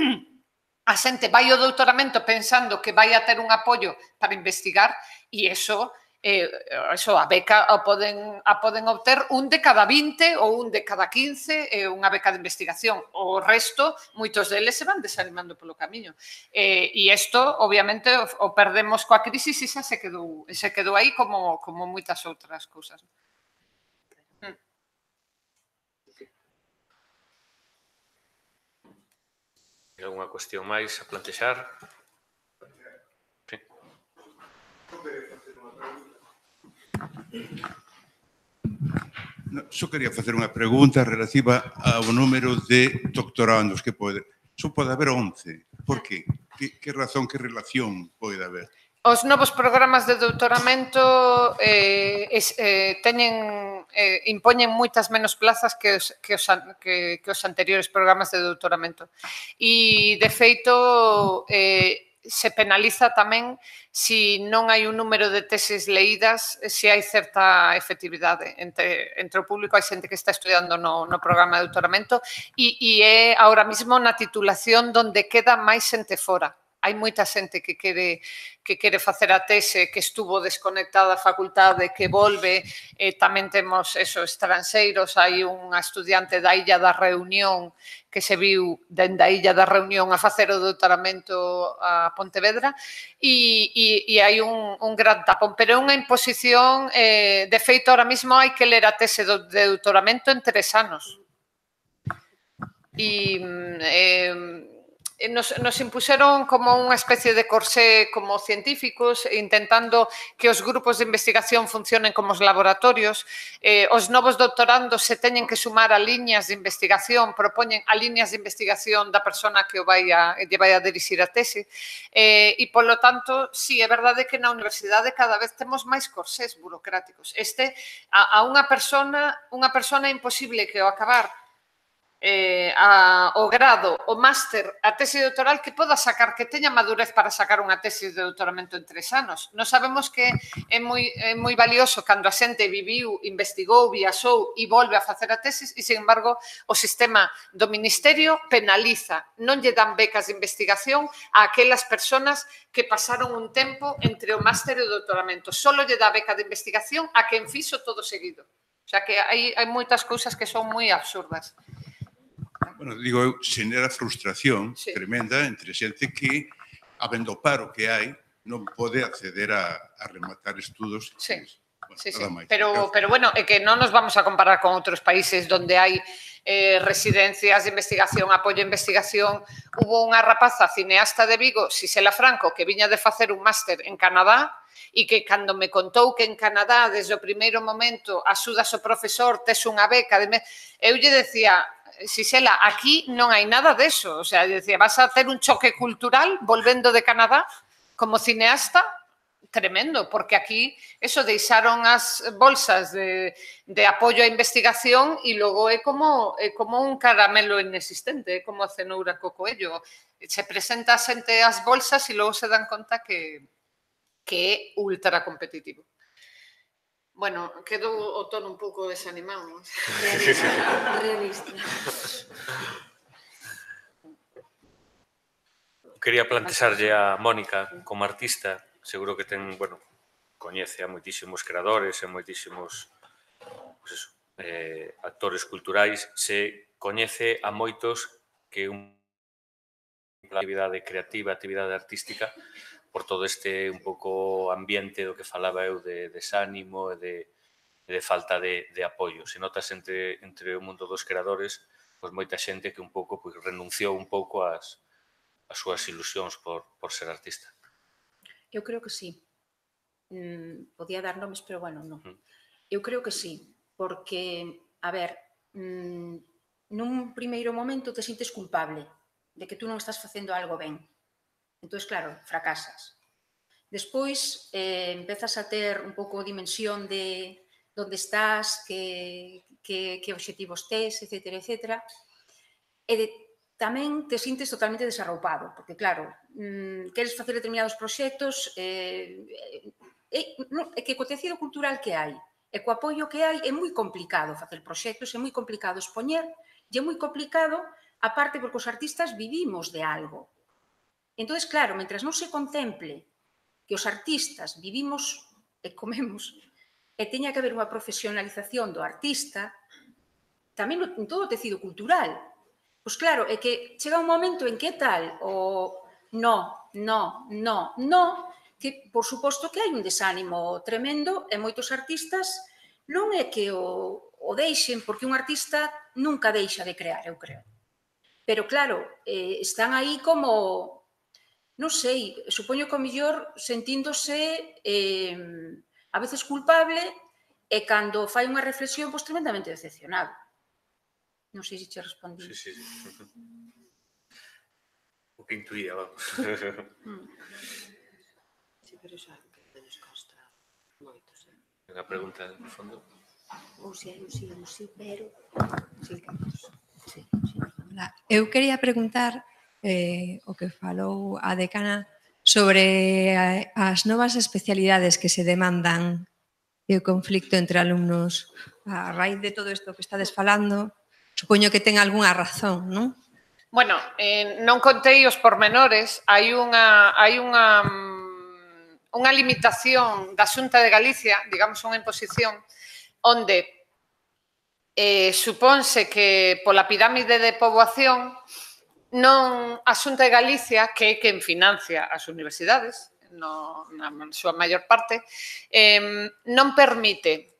a xente vai ao doutoramento pensando que vai a ter un apoio para investigar e eso a beca a poden obter un de cada 20 ou un de cada 15 unha beca de investigación. O resto, moitos deles se van desanimando polo camiño. E isto, obviamente, o perdemos coa crisis e xa se quedou aí como moitas outras cousas. Alguna cuestión máis a plantexar? Sí. Só quería facer unha pregunta relativa ao número de doctorandos que pode. Só pode haber 11. Por qué? Que razón, que relación pode haber? Os novos programas de doutoramento impoñen moitas menos plazas que os anteriores programas de doutoramento. E, de feito, se penaliza tamén se non hai un número de teses leídas, se hai certa efectividade. Entre o público hai xente que está estudiando no programa de doutoramento e é ahora mismo na titulación donde queda máis xente fora. hai moita xente que quere facer a tese, que estuvo desconectada da facultade, que volve, tamén temos estranxeiros, hai unha estudiante da Illa da Reunión que se viu dende a Illa da Reunión a facer o doutoramento a Pontevedra e hai un gran tapón, pero é unha imposición, de feito, ahora mismo hai que ler a tese de doutoramento en 3 anos. E nos impuseron como unha especie de corsé como científicos, intentando que os grupos de investigación funcionen como os laboratorios. Os novos doutorandos se teñen que sumar a liñas de investigación, propoñen a liñas de investigación da persona que lle vai a dirixir a tese. E, polo tanto, sí, é verdade que na universidade cada vez temos máis corsés burocráticos. A unha persona é imposible que ao acabar o grado, o máster, a tese doutoral que poda sacar, que teña madurez para sacar unha tese de doutoramento en 3 anos. Nos sabemos que é moi valioso cando a xente viviu, investigou, viaxou e volve a facer a tesis e, sin embargo, o sistema do Ministerio penaliza, non lle dan becas de investigación a aquelas persoas que pasaron un tempo entre o máster e o doutoramento. Solo lle dá beca de investigación a quen fixo todo seguido. O sea que hai moitas cousas que son moi absurdas. Bueno, digo, xenera frustración tremenda entre xente que, habendo o paro que hai, non pode acceder a rematar estudos. Sí, pero bueno, é que non nos vamos a comparar con outros países onde hai residencias de investigación, apoio a investigación. Hubo unha rapaza cineasta de Vigo, Xisela Franco, que viña de facer un máster en Canadá e que cando me contou que en Canadá, desde o primeiro momento, axudas o profesor, tes unha beca, eu lle decía, Xisela, aquí non hai nada deso. O sea, decía, vas a ter un choque cultural volvendo de Canadá como cineasta tremendo, porque aquí eso deixaron as bolsas de apoio á investigación e logo é como un caramelo inexistente, é como a cenoura co coello. Se presenta a xente as bolsas e logo se dan conta que é ultra competitivo. Bueno, quedo o tono un pouco desanimado. Realista. Quería plantexarlle a Mónica como artista, seguro que coñece a moitísimos creadores e moitísimos actores culturais, se coñece a moitos que unha actividade creativa, actividade artística, por todo este un pouco ambiente do que falaba eu de desánimo e de falta de apoio. Se notas entre o mundo dos creadores, moita xente que un pouco renunciou un pouco ás súas ilusións por ser artista. Eu creo que sí. Podía dar nomes, pero bueno, non. Eu creo que sí, porque, a ver, nun primeiro momento te sintes culpable de que tú non estás facendo algo ben. Entón, claro, fracasas. Despois, empezas a ter un pouco dimensión de onde estás, que obxectivos tes, etc. E tamén te sintes totalmente desarroupado, porque, claro, queres facer determinados proxectos, é que co tecido cultural que hai, e co apoio que hai, é moi complicado facer proxectos, é moi complicado expoñer, e é moi complicado, aparte, porque os artistas vivimos de algo. Entón, claro, mentre non se contemple que os artistas vivimos e comemos e teña que haber unha profesionalización do artista, tamén en todo o tecido cultural. Pois claro, é que chega un momento en que tal o no, que por suposto que hai un desánimo tremendo e moitos artistas non é que o deixen, porque un artista nunca deixa de crear, eu creo. Pero claro, están aí como... non sei, supoño que o mellor sentíndose a veces culpable e cando fai unha reflexión, pois tremendamente decepcionado. Non sei se che respondí. Sí. O que intuía, vamos. Sí, pero xa que nos consta moitos. Unha pregunta, no fondo. Ou si hai un sí, pero... Sí. Eu quería preguntar o que falou a decana sobre as novas especialidades que se demandan e o conflicto entre alumnos. A raíz de todo isto que estades falando, supoño que ten algunha razón, non? Bueno, non contei os pormenores, hai unha limitación da Xunta de Galicia, digamos unha imposición, onde supónse que pola pirámide de poboación non a Xunta de Galicia, que é quen financia as universidades, na súa maior parte, non permite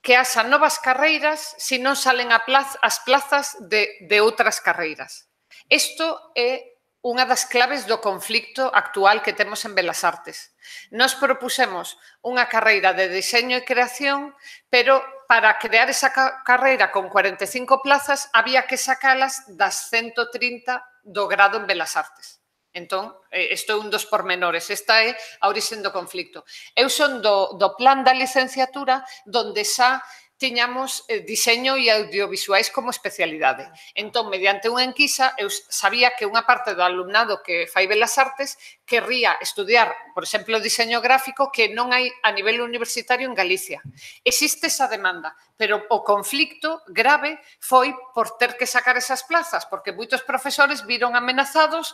que haxa novas carreiras se non salen as plazas de outras carreiras. Isto é unha das claves do conflicto actual que temos en Belas Artes. Nos propusemos unha carreira de diseño e creación, pero para crear esa carreira con 45 plazas había que sacalas das 130 do grado en Belas Artes. Entón, isto é un dos pormenores, esta é a orixe do conflicto. Eu son do plan da licenciatura donde xa tiñamos diseño e audiovisuais como especialidade. Entón, mediante unha enquisa, eu sabía que unha parte do alumnado que fai Belas Artes querría estudiar, por exemplo, diseño gráfico que non hai a nivel universitario en Galicia. Existe esa demanda, pero o conflicto grave foi por ter que sacar esas plazas, porque moitos profesores viron amenazados,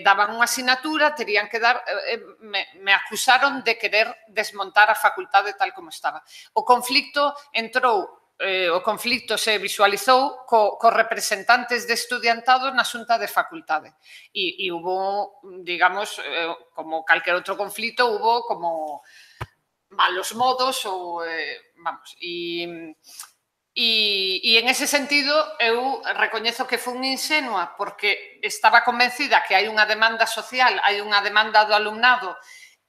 daban unha asignatura, terían que dar, me acusaron de querer desmontar a facultade tal como estaba. O conflicto se visualizou co representantes de estudiantado na Xunta de Facultade. E hubo, digamos, como calquer outro conflito, hubo como malos modos ou, vamos, e en ese sentido eu recoñezo que fui ingenua porque estaba convencida que hai unha demanda social, hai unha demanda do alumnado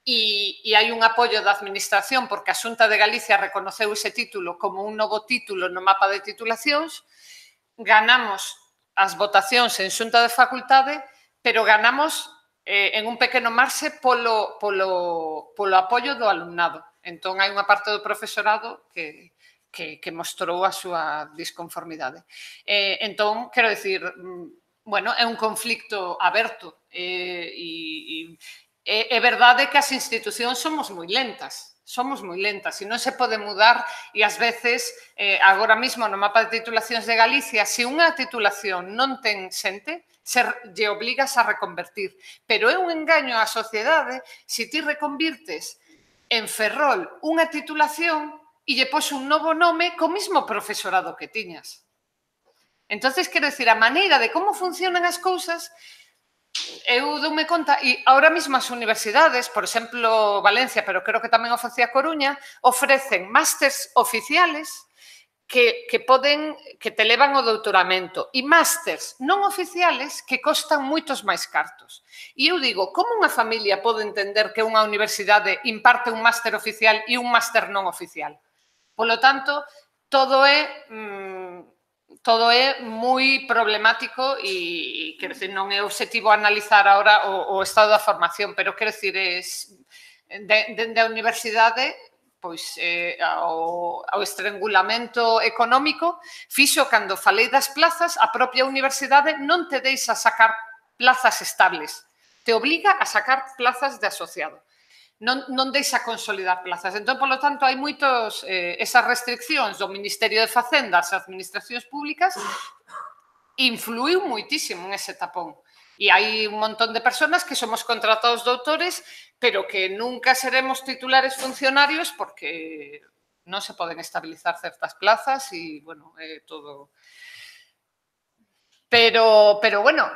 e hai un apoio da administración porque a Xunta de Galicia reconoceu ese título como un novo título no mapa de titulacións, ganamos as votacións en Xunta de Facultade, pero ganamos en un pequeno marxe polo apoio do alumnado. Entón, hai unha parte do profesorado que mostrou a súa disconformidade. Entón, quero dicir, bueno, é un conflicto aberto e é verdade que as institucións somos moi lentas e non se pode mudar e ás veces, agora mesmo no mapa de titulacións de Galicia, se unha titulación non ten xente, lle obligas a reconvertir. Pero é un engaño á sociedade se ti reconvirtes en Ferrol unha titulación e lle pos un novo nome co mesmo profesorado que tiñas. Entonces, quero dicir, a maneira de como funcionan as cousas, eu doume conta, e ahora mesmo as universidades, por exemplo, Valencia, pero creo que tamén o facía Coruña, ofrecen másters oficiales que te levan ao doutoramento e másters non oficiales que costan moitos máis cartos. E eu digo, como unha familia pode entender que unha universidade imparte un máster oficial e un máster non oficial? Polo tanto, todo é moi problemático e, quero dicir, non é objetivo analizar agora o estado da formación, pero, quero dicir, dende a universidade, pois, ao estrangulamento económico, fixo, cando falei das plazas, a propia universidade non te deixa sacar plazas estables, te obliga a sacar plazas de asociado. Non deixa consolidar plazas. Entón, polo tanto, hai moitos esas restriccións do Ministerio de Facenda ás administracións públicas influiu moitísimo en ese tapón. E hai un montón de persoas que somos contratados doutores, pero que nunca seremos titulares funcionarios porque non se poden estabilizar certas plazas e, bueno, é todo... Pero, bueno,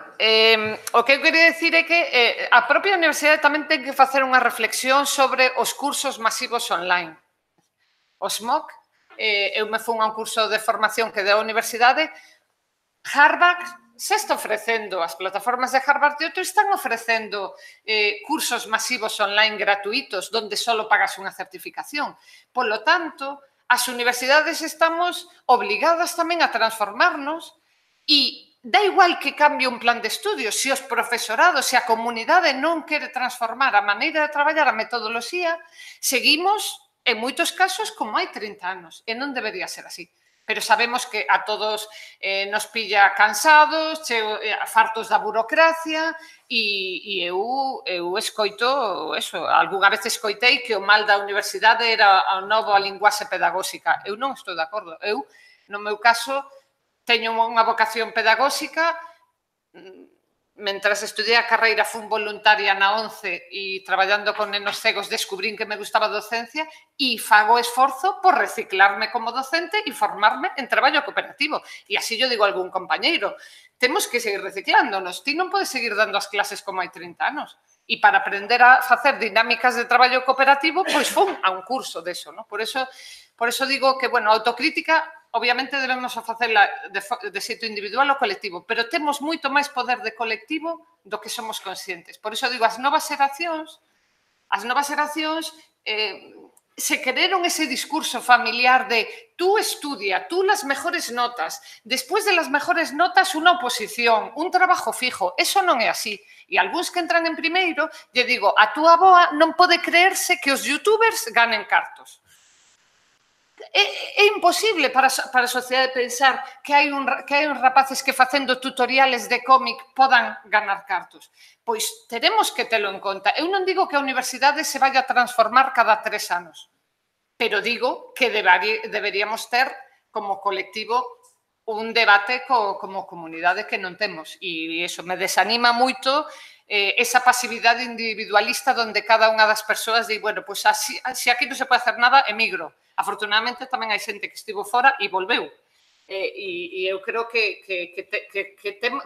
o que eu queria dicir é que a propia universidade tamén ten que facer unha reflexión sobre os cursos masivos online. Os MOOC, eu me fui a un curso de formación que deu a universidade, Harvard se está ofrecendo, as plataformas de Harvard e outros están ofrecendo cursos masivos online gratuitos onde só pagas unha certificación. Polo tanto, as universidades estamos obligadas tamén a transformarnos e dá igual que cambie un plan de estudios, se os profesorados, se a comunidade non quere transformar a maneira de traballar, a metodoloxía, seguimos, en moitos casos, como hai 30 anos, e non debería ser así. Pero sabemos que a todos nos pilla cansados, fartos da burocracia, e eu escoito, eso, algunha vez escoitei que o mal da universidade era a nova linguaxe pedagóxica. Eu non estou de acordo. Eu, no meu caso, teño unha vocación pedagóxica mentras estudié a carreira fun voluntaria na 11 e traballando con nenos cegos descubrín que me gustaba a docencia e fago esforzo por reciclarme como docente e formarme en traballo cooperativo. E así yo digo a algún compañeiro, temos que seguir reciclándonos. Ti non podes seguir dando as clases como hai 30 anos. E para aprender a facer dinámicas de traballo cooperativo, pois fun a un curso deso, non? Por eso digo que, bueno, a autocrítica obviamente debemos facela de xeito individual ou colectivo, pero temos moito máis poder de colectivo do que somos conscientes. Por iso digo, as novas xeracións se quereron ese discurso familiar de tú estudia, tú las mejores notas, despois de las mejores notas unha oposición, un trabajo fijo. Eso non é así. E algúns que entran en primeiro, lle digo, a túa avoa non pode creerse que os youtubers ganen cartos. É imposible para a sociedade pensar que hai uns rapaces que facendo tutoriales de cómic podan ganar cartos. Pois teremos que telo en conta. Eu non digo que a universidade se vaya a transformar cada 3 anos, pero digo que deberíamos ter como colectivo un debate como comunidade que non temos. E iso me desanima moito esa pasividade individualista onde cada unha das persoas di, bueno, pois se aquí non se pode hacer nada, emigro. Afortunadamente tamén hai xente que estivo fora e volveu. E eu creo que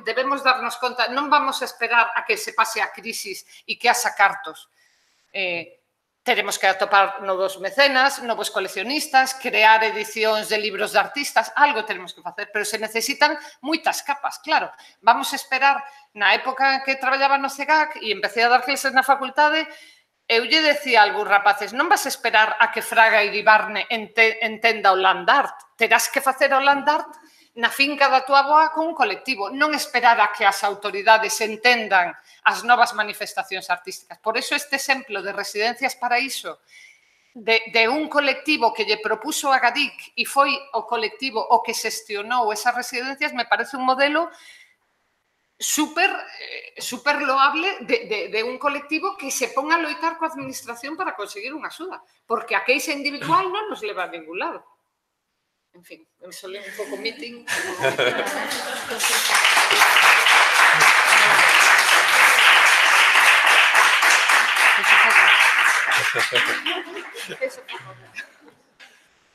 debemos darnos conta, non vamos a esperar a que se pase a crisis e que haxa cartos. Teremos que atopar novos mecenas, novos coleccionistas, crear edicións de libros de artistas, algo tenemos que facer, pero se necesitan moitas capas, claro. Vamos a esperar, na época que traballaba no CEGAC e empecé a dar clases na facultade, eu lle decía a algúns rapaces, non vas a esperar a que Fraga e Iribarne entenda o land art, terás que facer o land art na finca da tua avoa con un colectivo, non esperar a que as autoridades entendan as novas manifestacións artísticas. Por iso este exemplo de Residencias Paraíso, de un colectivo que lle propuso a Gadic e foi o colectivo o que xestionou esas residencias, me parece un modelo super loable de un colectivo que se ponga a loitar coa administración para conseguir unha axuda, porque a queixa individual non nos leva a ningún lado. En fin, me solé un pouco meeting.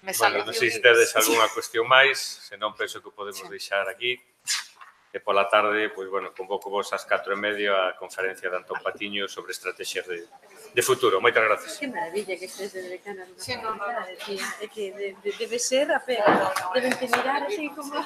Bueno, non sei se tedes algunha cuestión máis, senón penso que o podemos deixar aquí. E pola tarde, pois, bueno, convoco vos ás 4:30 a conferencia de Antón Patiño sobre estrategias de futuro. Moitas gracias. Que maravilla que estés de decana. Sí, no. É que debe ser a pena. Deben te mirar así como...